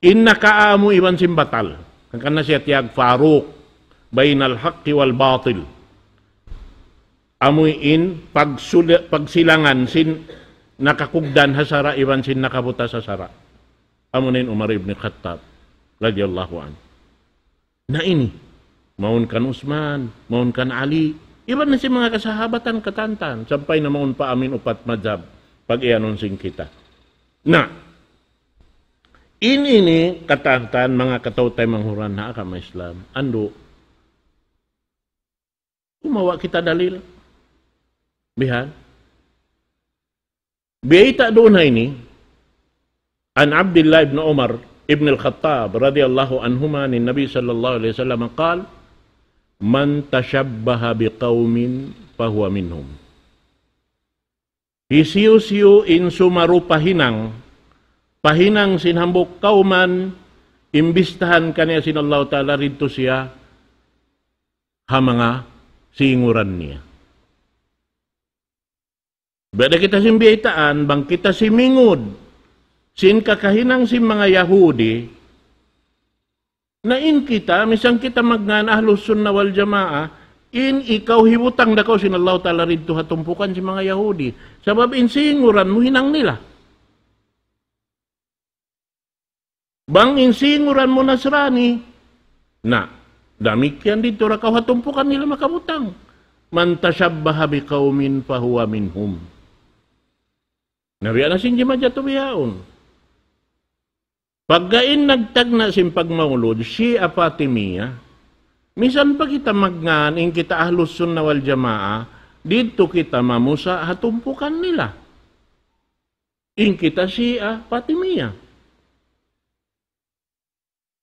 In nakaamu iban sin batal. Hangkan na siya tiyag Faruq. Baynal haqqi wal batil. Amu in pagsula-, pagsilangan sin nakakugdan ha sara' iban sin nakabutas ha sara'. Amu na in Umar ibn Khattab radiyallahu anhu. Na ini, mawn kan Usman, mawn kan Ali, iban na sin manga kasahabatan katantan, sampay na mawn pa amin upat madhab, pag-iyanun sin kita. Na, in ini katantan, manga kataw-taymanghuran ha agama Islam, andu', kumawa' kita dalil. Bihan. Biyayta' duun ha ini, عن عبد الله بن عمر بن الخطاب رضي الله عنهما عن النبي صلى الله عليه وسلم قال: من تشبه بقوم فهو منهم. Hisiyu-siyu in sumarupa hinang, pa hinang sin hambuuk kawman, imbistahan kaniya sin Allahu Ta'ala, didtu siya ha manga singuran niya. Biyayta' kita sin biyaytaan, bang kita simingud sin kakahinang sin manga Yahudi, na in kita, misan kita magngan Ahlus Sunnah wal Jamaah, in ikaw hibutang da kaw sin Allahu Ta'ala didtu ha tumpukan sin manga Yahudi. Sabab in singuran mu hinang nila. Bang in singuran mu Nasrani, na, damikkiyan didtu da kaw ha tumpukan nila makabutang. من تشبه بقوم فهو منهم. Na biya' na sin jimajatu bihaun. Pagga in nagtagna' sin pagmaulud, Shia Fatimiyya, misan pa kita magngan in kita Ahlus Sunnah wal Jamaah, didtu kita mamusa' ha tumpukan nila. In kita Shia Fatimiyya.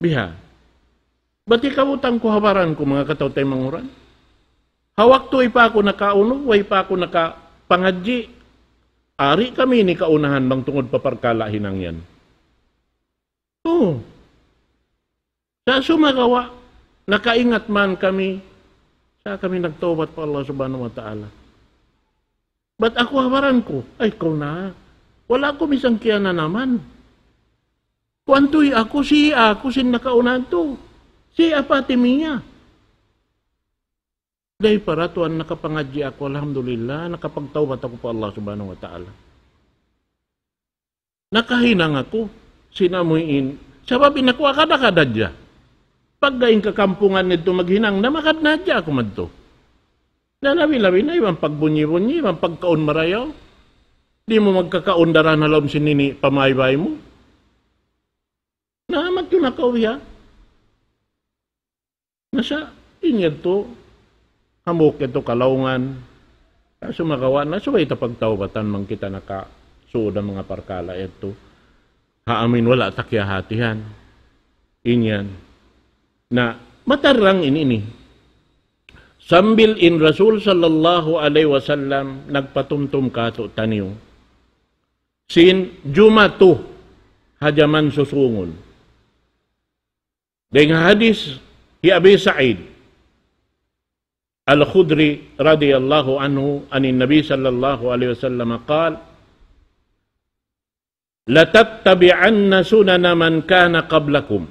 Biha. Bat hikabutang ku ha baran ku, manga kataw-taymanghuran. Ha waktu way pa aku nakaunu, way pa aku nakapangadji', ari kami ini kaunahan bang tungud pa parkala' hinang yan. Oo. Sa' sumagawa', nakaingat man kami, sa' kami nagtawbat pa Allah Subhanahu wa Ta'ala. Bat aku ha baran ku, ay, kaw na. Wala' aku misan kiyananaman. Kuwan tuy aku, Shia aku sin nakaunahan tu. Shia Fatimiyya. Dayn pa ra tuwan nakapangadji' aku, alhamdulillah, nakapagtawbat aku pa Allah Subhanahu wa Ta'ala. Nakahinang aku sin amuin. Sabab in aku agad-agad hadja. Pagga in kakampungan nidtu maghinang, na magad na hadja aku madtu. Na labi-labi na iban pagbunyi-bunyi, iban pagkaun marayaw. Di' mu magkakaun daran ha lawm sin ini pamaybay mu. Na, magtunakaw ya. Na sa', in yadtu, hambuuk yadtu kalaungan. Sumagawa' na, subay ta pagtawbatan bang kita nakasuud ha manga parkala' yadtu. Ha amin wala' ta kiyahatihan. In yan. Na, matarrang in ini. Sambil in Rasul sallallahu alayhi wasallam nagpatumtum kātu'niyu sin jumatu ha jaman susungun. Dayn ha hadith hi Abi Sa'id Al-Khudri radiyallahu anhu, عن النبي صلى الله عليه وسلم قال: لتتبعن سنن من كان قبلكم،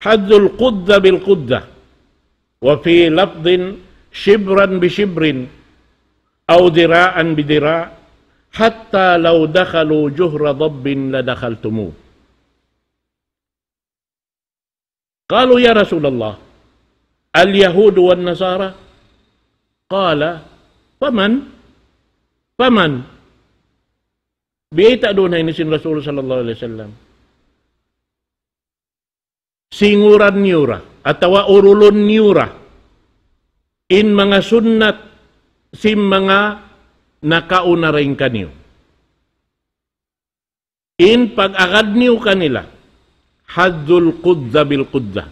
حذوا القذة بالقذة، وفي لفظ شبرا بشبر، أو ذراعا بذراع، حتى لو دخلوا جحر ضب لدخلتموه. قالوا: يا رسول الله، اليهود والنصارى؟ قال: فمن؟ فمن؟ Biyayta' duun ha ini sin Rasul sallallahu alayhi wasallam. Singuran niyu ra, atawa urulun niyu ra, in manga sunnat sin manga nakauna dayn kaniyu. In pag-agad niyu kanila, حذوا القذة بالقذة.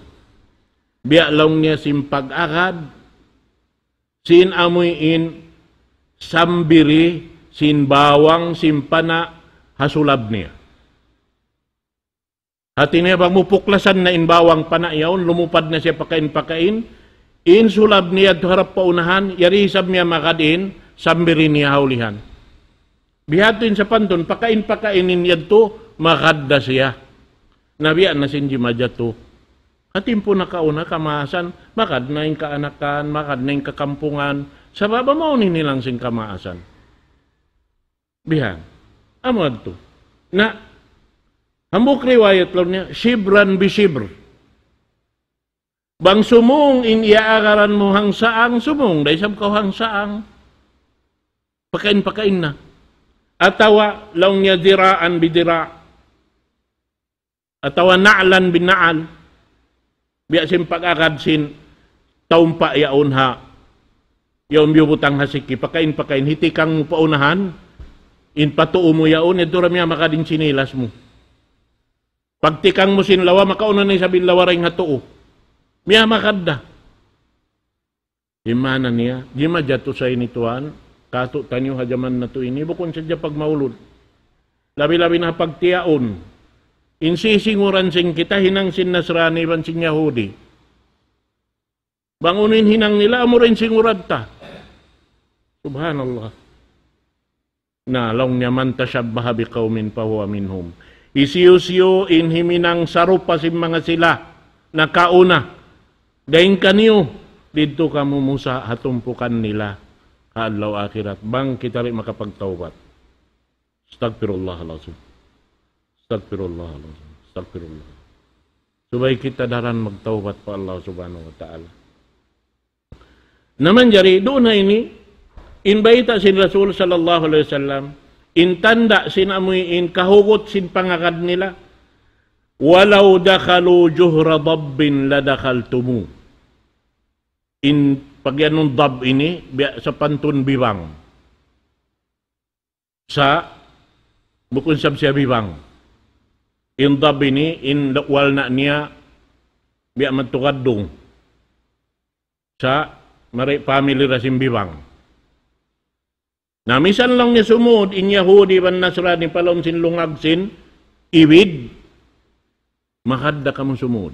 Biya' laung niya sin pag-agad, sin amuin sambiri, sin bawang, sin pana', ha sulab niya. Hati niya bang mupuklasan na in bawang pana' yaun, lumupad na siya pakain-pakain, in sulab niya yadtu harap pa unahan, yari isab niya magad in sambiri niya ha ulihan. Bihadtu in sapantun, pakain-pakain in yadtu, magad da siya. Na biya' na sin jimajatu. Ha timpu nakauna kamaasan, magad na in kaanakan, magad na in kakampungan, sabab amu in hinang sin kamaasan. Bihan. Amu yadtu. Na, hambuuk riwayat laung niya, شبرا بشبر. Bang sumūng in iyaagaran mu hangsaang, sumūng da isab kaw hangsaang. Pakain-pakain na. Atawa laung niya ذراعا بذراع. Atawa نعلا بنعل. Biya' sin pag-agad sin taumpa' yaun ha. Yaun biyubutang ha siki, pakain-pakain, hitikang mu pa unahan, in pa tuu mu yaun, yadtu ra miyamagad in sinilas mu. Pagtikang mu sin lawa, makauna na isab in lawa dayn ha tuu. Miyamagad da. In maana niya, jimajatu sa ini tuwan, kātu'niyu ha jaman natu' ini, bukun sadja pagmaulud. Labi-labi na pagtiyaun. In sisinguran sin kita, hinang sin Nasrani iban sin Yahudi. Bang unu in hinang nila, amu ra in singuran ta. Subhanallah. Na, laung niya, من تشبه بقوم فهو منهم. Hisiyu-siyu in himinang sarupa sin manga sila nakauna dayn kaniyu, didtu kamu musa' ha tumpukan nila ha adlaw akhirat, bang kita di' makapagtawbat. Astaghfirullahalazim. Astaghfirullahalazim. Astaghfirullah. Subay kita daran magtawbat pa Allah Subhanahu wa Ta'ala. Na manjari, duun na ini, in bayta' sin Rasul sallallahu alayhi wasallam, in tanda' sin amuin kahugut sin pangagad nila, ولو دخلوا جحر ضب لدخلتموه. In pagyanun dab ini, biya' sapantun bibang. Sa', bukun sab siya bibang. In dab ini, in walna' niya, biya' madtu gaddung. Sa', mari family da sin bibang. Na misan laung niya sumūd, in Yahudi iban Nasrani pa lawm sin lungag sin ibid, magad da kamu sumūd.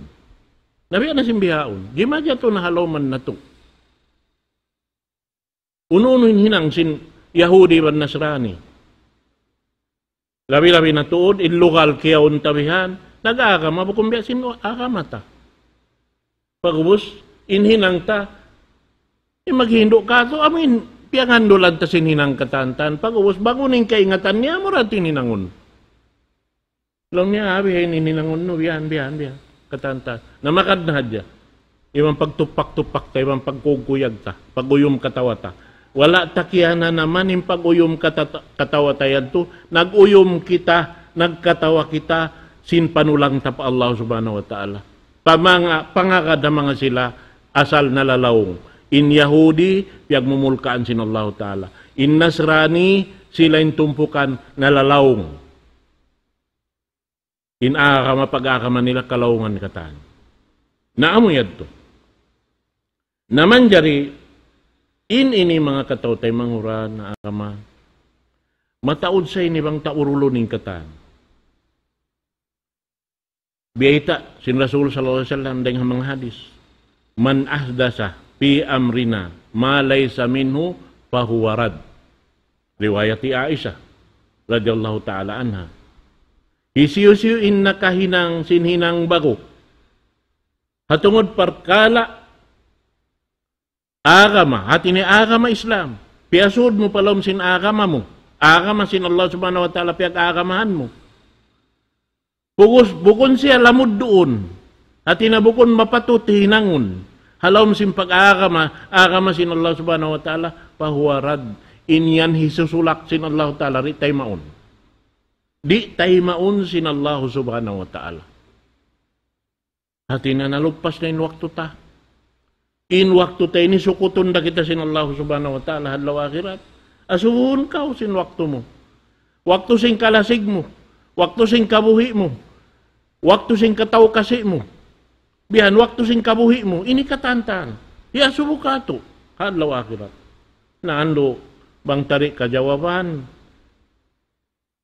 Na biya' na sin bihaun, jimajatu na ha lawm natu'. Unu-unu in hinang sin Yahudi iban Nasrani. Labi-labi na tuud, in lugal kiyaun ta bihan, nag-agama, bukun biya' sin agama ta. Pag'ubus, in hinang ta, in maghindu' katu', amu in, piyangandulan ta sin hinang katan-katan. Pag'ubus, bang unu in kaingatan niya, amu ra in hinangun. Laung niya, "Ah, biya' ini in hinangun nu, biya' yan, biya' yan, biya' yan." Katan-katan. Na magad na hadja. Iban pagtupak-tupak ta, iban pagkuyag-kuyag ta, pag-uyum katawa ta. Wala' ta kiyananaman in pag-uyum katata-, katawa ta yadtu. Nag-uyum kita, nagkatawa kita, sin panulang ta pa Allah Subhanahu wa Ta'ala. Pa manga, pangagad ha manga sila, asal nalalaung. In Yahudi, piyagmumulkaan sin Allah Ta'ala. In Nasrani, sila in tumpukan, nalalaung. In agama, pag-agama nila kalaungan katan. Na amu yadtu. Na manjari, in ini manga kataw-taymanghuran na agama, mataud sa ini bang ta urulun in katan. Biyayta' sin Rasul sallallahu alayhi wasallam dayn ha manga hadis, من أحدث في أمرنا ما ليس منه فهو رد. Riwayat hi Aisha radiyallahu ta'ala anha. Hisiyu-siyu in nakahinang sin hinang ba'gu ha tungud parkala' agama, hati niya agama Islam. Piyasud mu pa lawm sin agama mu. Agama sin Allah Subhanahu wa Ta'ala piyag-agamahan mu. Pugus, bukun siya lamud duun. Hati niya bukun mapatut hinangun. Ha lawm sin pag-agama, agama sin Allah Subhanahu wa Ta'ala, فهو رد. In yan hisusulak sin Allah Ta'ala, di' taymaun. Di' taymaun sin Allah Subhanahu wa Ta'ala. Hati niya nalupas na in waktu ta. In waktu ta ini sukutun da kita sin Allah Subhanahu wa Ta'ala ha adlaw akhirat. Asubuhun kaw sin waktu mu. Waktu sin kalasig mu. Waktu sin kabuhi' mu. Waktu sin kataw-kasi' mu. Bihan waktu sin kabuhi' mu. Ini katantan. Iyasubu katu'. Ha adlaw akhirat. Na andu' bang ta di' kajawaban.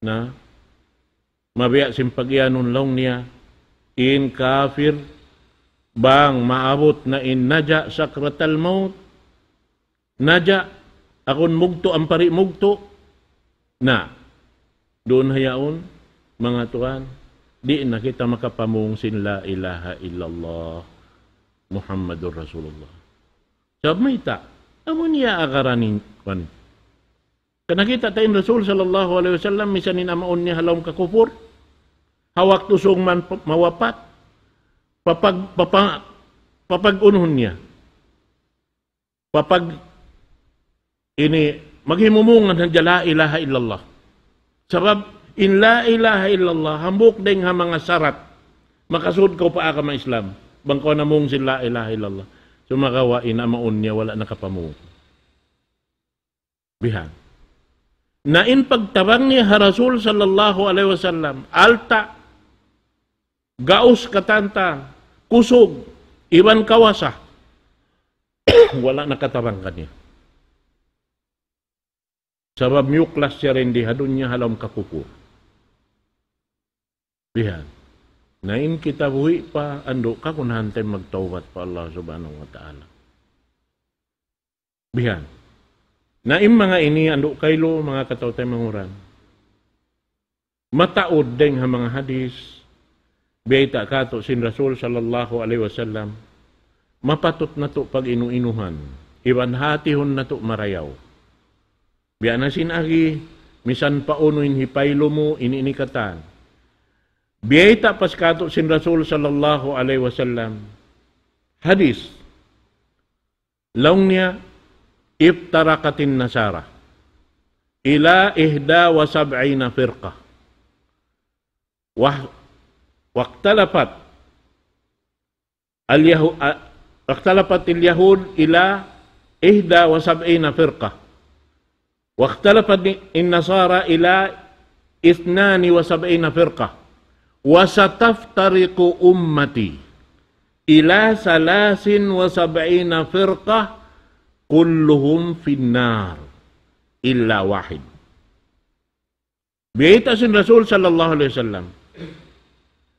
Na, mabiya' sin pag-iyanun laung niya, in kafir, bang maabut na in naja' sakratal maut, naja', agun mugtu', ampari mugtu', na, duun ha yaun, manga tuwan, di' na kita makapamung sin la ilaha illallah Muhammadur Rasulullah. Sabab mayta', amu niya agaran in, kuwan. Karna' kita' ta in Rasul sallallahu alayhi wasallam, misan in amaun niya ha lawm kakupur, ha waktu sung man pa-, mawapat, papag-, papa-, papag-unuhun niya. Papag-, ini, maghimumungan hadja la ilaha illallah. Sabab, in la ilaha illallah, hambuuk dayn ha manga sarat, makasud kaw pa agama Islam, bang kaw namung sin la ilaha illallah. Sumagawa' in amaun niya wala' nakapamung. Bihan. Na in pagtabang niya ha Rasul sallallahu alayhi wasallam, alta', gaus katantan, kusug, iban kawasa, wala' nakatabang kaniya. Sabab miyuklas siya dayn di ha dunya ha lawm kakupur. Bihan. Na in kita buhi' pa, andu' kagunahan ta in magtawbat pa Allah Subhanahu wa Ta'ala. Bihan. Na in manga ini andu' kaylu, manga kataw-taymanghuran. Mataud dayn ha manga hadis, biyayta' katu' sin Rasul sallallahu alayhi wasallam, mapatut natu' pag-inu-inuhan, iban hatihun natu' marayaw. Biya' na sin agi, misan pa unu in hipaylu mu, ini, ini katan. Biyayta' pa katu' sin Rasul sallallahu alayhi wasallam, hadis, laung niya, افترقت النصارى إلى إحدى وسبعين فرقة. وه-، واختلفت اليهو-، آه، اختلفت اليهود إلى إحدى وسبعين فرقة. واختلفت النصارى إلى اثنان وسبعين فرقة. وستفترق أمتي إلى ثلاث وسبعين فرقة كلهم في النار إلا واحد. Biyayta' sin Rasul sallallahu alayhi wasallam,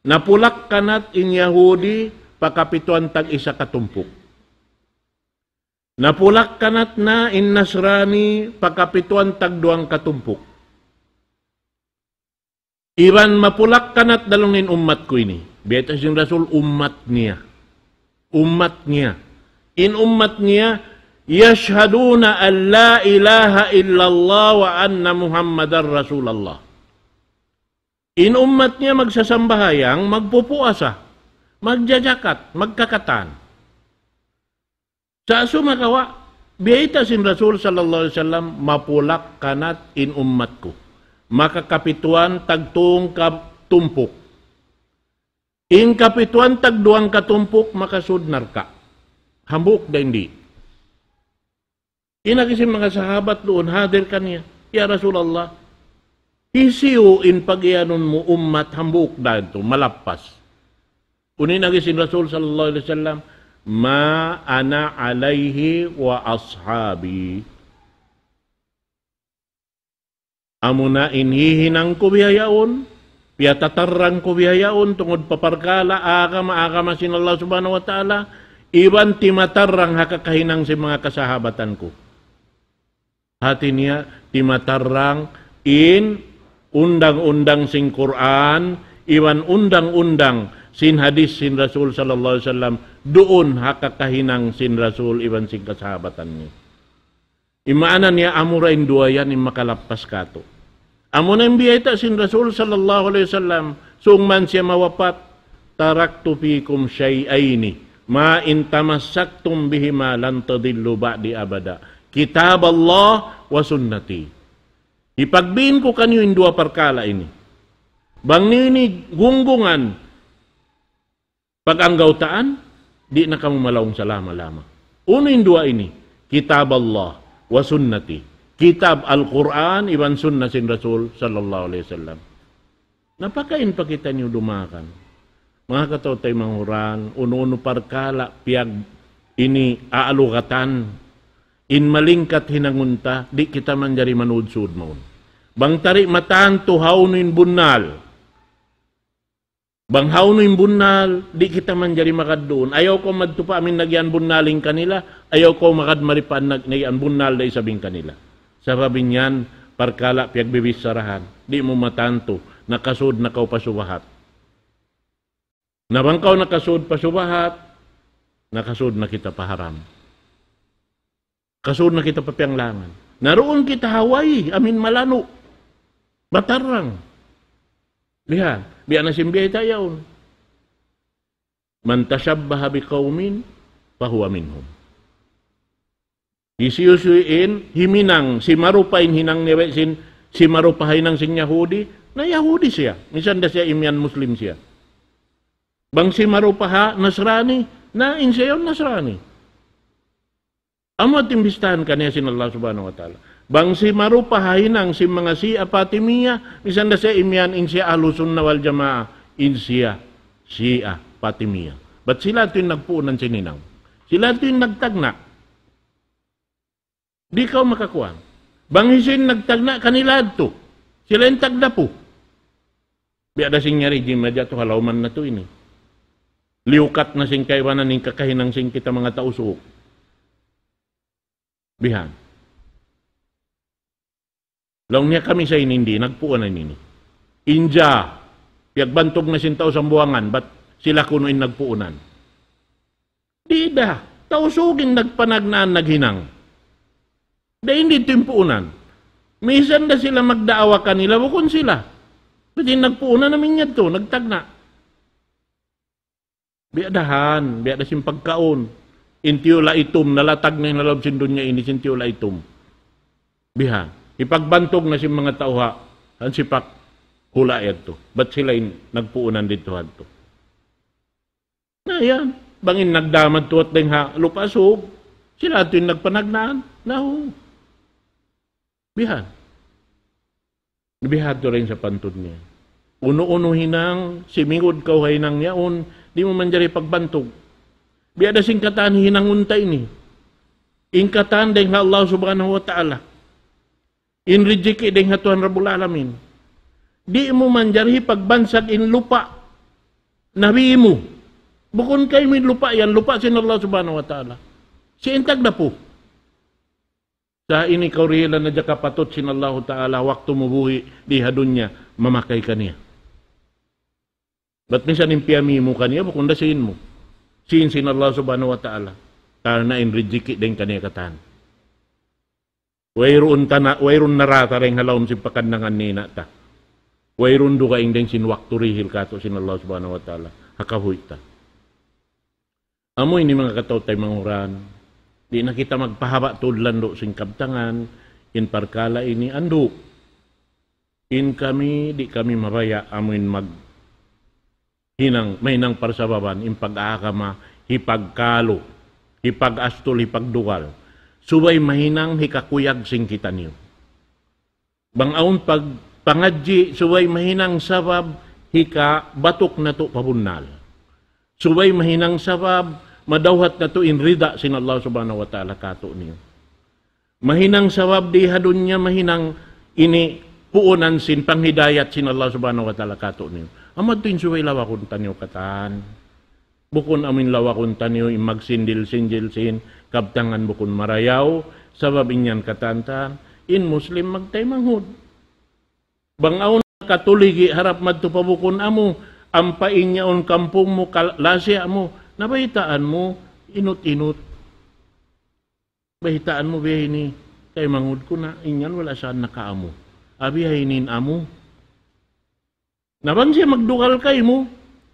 napulak-kanat in Yahudi pa kapituan tag-isa katumpuk. Napulak-kanat na in Nasrani pa kapituan tagduwang katumpuk. Iban mapulak-kanat da laung niya in ummat ku ini. Biyayta' sin Rasul ummat niya. Ummat niya. In ummat niya, يشهدون أن لا إله إلا الله وأن محمدا رسول الله. In ummat niya magsasambahayang, magpupuasa, magjajakat, magkakatan. Sa' sumagawa', Biyayta' sin Rasul sallallahu alayhi wasallam, mapulak kanat in ummat ku. Makakapituan tagtung katumpuk. In kapituan tagduang katumpuk makasud narka'. Hambuuk da in di'. In agi sin manga sahabat duun hadir kaniya, "Ya Rasulullah, hisiyu in pag-iyanun mu ummat hambuuk da yadtu, malappas?" Unu in agi sin Rasul sallallahu alayhi wasallam, "Ma ana alayhi wa ashabi." Amuna in hihinang ku bihaun, piyatatarrang ku bihaun, tungud pa parkala' agama, agama sin Allah Subhanahu wa Ta'ala, iban timatarrang ha kakahinang sin manga kasahabatan ku. Hati niya, timatarrang in undang-undang sin Qur'an, iban undang-undang sin hadis sin Rasul sallallahu alayhi wasallam, duun ha kakahinang sin Rasul iban sin kasahabatan niya. In maana niya, amura in duwa yan in makalappas katu'. Amuna in biyayta' sin Rasul sallallahu alayhi wasallam, sung man siya mawapat, "Taraktu fikum shay'ayni, ma in tamassaktum bihima lan tadillu ba'di abada. Kitab Allah wa sunnati." Hipagbin ku kaniyu in duwa parkala' ini. Bang niyu ini gunggungan, pag-anggawtaan, di' na kamu malaung salama-lama. Unu in duwa ini? Kitab Allah wa sunnati. Kitab Al-Qur'an iban sunna sin Rasul sallallahu alayhi wasallam. Na pakain pa kitaniyu dumakan. Manga kataw-taymanghuran, unu-unu parkala' piyag ini aalugatan. In malingkat hinangun ta, di' kita manjari manudsud mawn. Bang tari matantu hawnu in bunnal. Bang hawnu in bunnal, di' kita manjari magad duun. Ayaw kaw madtu pa amin nagyan bunnal in kanila, ayaw kaw magad mari pa nag-, nagyan bunnal da isab in kanila. Sabab in yan, parkala' piyagbibissarahan, di' mu matantu, nakasud na kaw pa subahat. Na bang kaw nakasud pa subahat, nakasud na kita pa haram. Kasud na kita pa piyanglangan. Na duun kita ha way, amin malanu'. Batarrang. Bihan, bihan na sin biyayta' yaun. "Man tashabbaha biqawmin fahuwa minhum." Hisiyu-siyu in himinang, simarupa in hinang niya sin, simarupa hinang sin Yahudi, na Yahudi siya. Minsan da siya imiyan Muslim siya. Bang simarupa ha Nasrani, na in siya yaun Nasrani. Amu in timbistahan kaniya sin Allah Subhanahu wa Ta'ala. Bang simarupa ha hinang sin manga Shia Fatimiyya, misan da siya imiyan in siya Ahlus Sunnah wal Jamaah, in siya Shia Fatimiyya. Bat sila yadtu in nagpuunan sin hinang. Sila yadtu in nagtagna'. Di' kaw makakuan. Bang hisiyu in nagtagna' kanila yadtu. Sila in tagdapu. Biya' da sin yari jimma jatu ha lawman natu' ini. Liyukat na sin kaibanan in kakahinang sin kita manga Tausug. Bihan. Laung niya kami sa ini di', nagpuunan ini. Inja, piyagbantug na sin tau Sambuwangan, bat sila kunu' in nagpuunan. Di' da, Tausug in nagpanagnaan naghinang. Da' in di' timpuunan. Misan da sila magdaawa kanila, bukun sila. Bat in nagpuunan amu in yadtu, nagtagna'. Biya' da han, biya' da sin pagkaun. In tiyula' itum, nalatag na in ha lawm sin dunya ini, sin tiyula' itum. Bihan. Hipagbantug na sin manga tau ha, hansipak hula' yadtu. Bat sila in nagpuunan didtu hadtu. Na yan, bang in nagdamad tuwat dayng ha Lupa' Sug, sila yadtu in nagpanagnaan. Nahu. Bihan. Bihan tu rin sa pantud niya. Unu-unu hinang, simingud kaw ha hinang yaun, di' mu manjari pagbantug. Biya' da sin katan hinangun ta ini. In katan dayng ha Allah Subhanahu wa Ta'ala. In rijiki' dayng ha Tuhan Rabbul Alamin. Di' mu manjari pagbansag in lupa' nabi mu. Bukun kaymu in lupa' yan, lupa' sin Allah Subhanahu wa Ta'ala. Siya in tagdapu. Sa' ini kaw dihilan na diya kapatut sin Allahu Ta'ala, waktu mu buhi' di ha dunya, mamakay kaniya. Bat minsan in piyami mu kaniya, bukun da sīn mu. Sīn sin Allah Subhanahu wa Ta'ala. Karna' in rijiki' dayng kaniya katan. Wayruun tana', wayruun narata dayng ha lawm sin pakannangan ni ina' ta. Wayruun dugaing dayng sin waktu dihil katu' sin Allah Subhanahu wa Ta'ala. Ha kabuhi' ta. Amu ini manga kataw-taymanghuran. Di' na kita magpahaba' tuud landu' sin kabtangan, in parkala' ini andu'. In kami, di' kami mabaya' amuin mag-, hinang, mahinang parsababan, in pag-agama, hipagkalu, hipag-astul, hipagdugal. Subay mahinang hikakuyag sin kitaniyu. Bang awn pag-, pangadji', subay mahinang sabab hikabatuk natu' pa bunnal. Subay mahinang sabab madawhat natu' in rida sin Allah Subhanahu wa Ta'ala kātu'niyu. Mahinang sabab di ha dunya, mahinang ini puunan sin panghidayat sin Allah Subhanahu wa Ta'ala kātu'niyu. Amu yadtu in subay lawakun taniyu katan. Bukun amuin lawakun taniyu in magsindil-sindil sin kabtangan bukun marayaw, sabab in yan katan-katan, in Muslim magtaymanghud. Bang awn nakatuligi harap madtu pa bukun amu, ampa in yaun kampung mu, kal-, lasiya' mu, nabaytaan mu, inut-inut. Baytaan mu biya' ini, taymanghud ku na, in yan wala' saan nakaamu. Abi ha ini in amu. Na bang siya magdugal kaymu,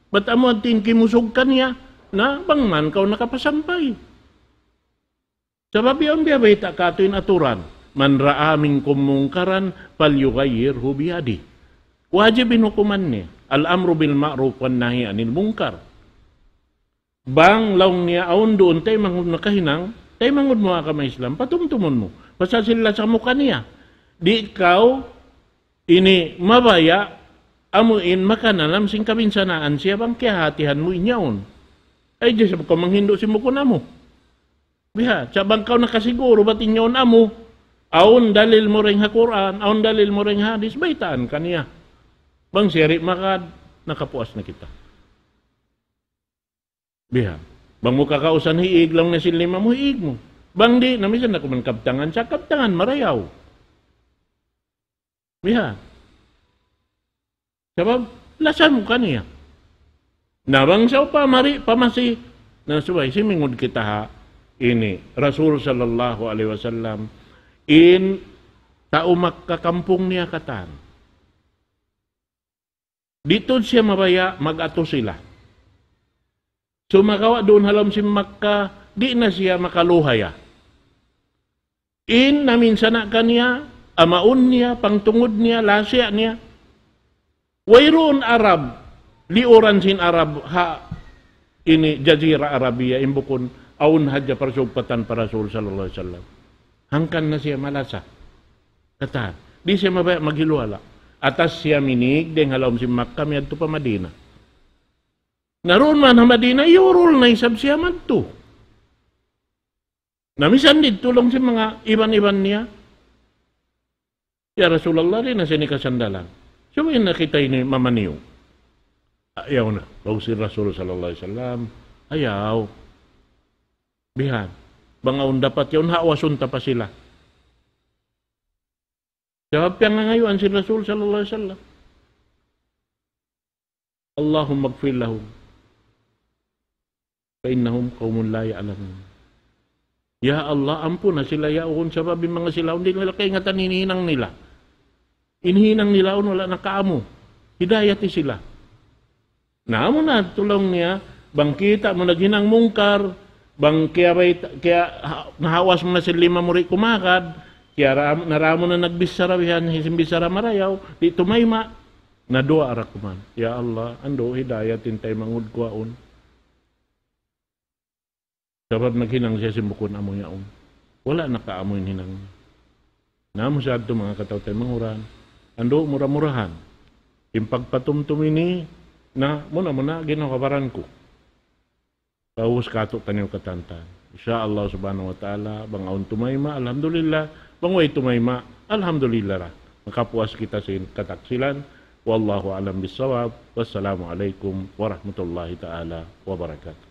bat amu in kimusug kaniya, na bang man kaw nakapasampay. Sabab yaun biya' bayta' katu' in aturan, من رأى منكم منكرا فليغيره بيده. Wajib in hukuman niya, الأمر بالمعروف والنهي عن المنكر. Bang laung niya awn duun taymanghud nakahinang, taymanghud mu agama Islam, patumtumun mu. Pasal sin lasa mu kaniya. Di' kaw ini mabaya' amuin makanalam sin kabinsanaan siya bang kiyahatihan mu in yaun. Ay, di' sa kaw manghindu' sin bukun amu. Biha', sa' bang kaw nakasiguru bat in yaun amu, awn dalil mu dayn ha Qur'an, awn dalil mu dayn ha hadis, baytaan kaniya. Bang siya di' magad, nakapuas na kita. Biha'. Bang mu kakausan hiig, laung niya sin lima mu, hiig mu. Bang di', na misan na kuman kabtangan, sa' kabtangan marayaw. Biha'. Sabab, lasa mu kaniya. Na bang sawpama di' pa masi, na subay, simingud kita ha ini, Rasul sallallahu alayhi wasallam, in tau Makkah kampung niya katan. Di' tuud siya mabaya' mag-atu sila. Sumagawa' duun ha lawm sin Makkah, di' na siya makaluhaya. In naminsana' kaniya, amaun niya, pangtungud niya, lasiya' niya. Wayruun Arab, liuran sin Arab, ha ini Jazira Arabia, in bukun awn hadja parsugpatan pa Rasul sallallahu alayhi wasallam. Hangkan na siya malasa. Katan, di' siya mabaya' maghiluhala'. Atas siya minig, dayn ha lawm sin Makkah, miyadtu pa Madina. Na duun man ha Madina, iyurul na isab siya madtu. Na misan didtu laung sin manga iban-iban niya, "Ya Rasulullah, di' na siya ini kasandalan. Subay na kita ini mamaniyu." Ayaw na. Laung sin Rasul sallallahu alayhi wasallam, ayaw. Bihan. Bang awn dapat yaun, hawasun ta pa sila. Sabab piyangangayuan sin Rasul sallallahu alayhi wasallam, اللهم اغفر لهم فإنهم قوم لا يعلمون. Ya Allah, ampuna sila yaun, sabab in manga sila yaun di' nila kaingatan in hinang nila. In hinang nila yaun wala' nakaamu. Hidayati sila. Na, amu na tuud laung niya, bang kita' mu naghinang mungkar, bang kiyabay-, kiya-, ha-, nahawas mu na sin lima mu di' kumagad, kiyara-, nara mu na nagbichara bihan, sin bichara marayaw, di' tumayma', na duwaa ra kuman. Ya Allah, andu' hidayat in taymanghud ku yaun. Sabab naghinang siya sin bukun amu yaun. Wala' nakaamu in hinang. Na amu sa yadtu manga kataw-taymanghuran. Andu' mura-murahan. In pagpatumtum ini, na muna-muna ginawa baran ku. Paubus katu' taniyu katantan. Insya Allah subhanahu wa ta'ala, bang awn tumayma', alhamdulillah. Bang way tumayma', alhamdulillah ra. Makapuas kita sin kataksilan. والله أعلم بالصواب. والسلام عليكم ورحمة الله تعالى وبركاته.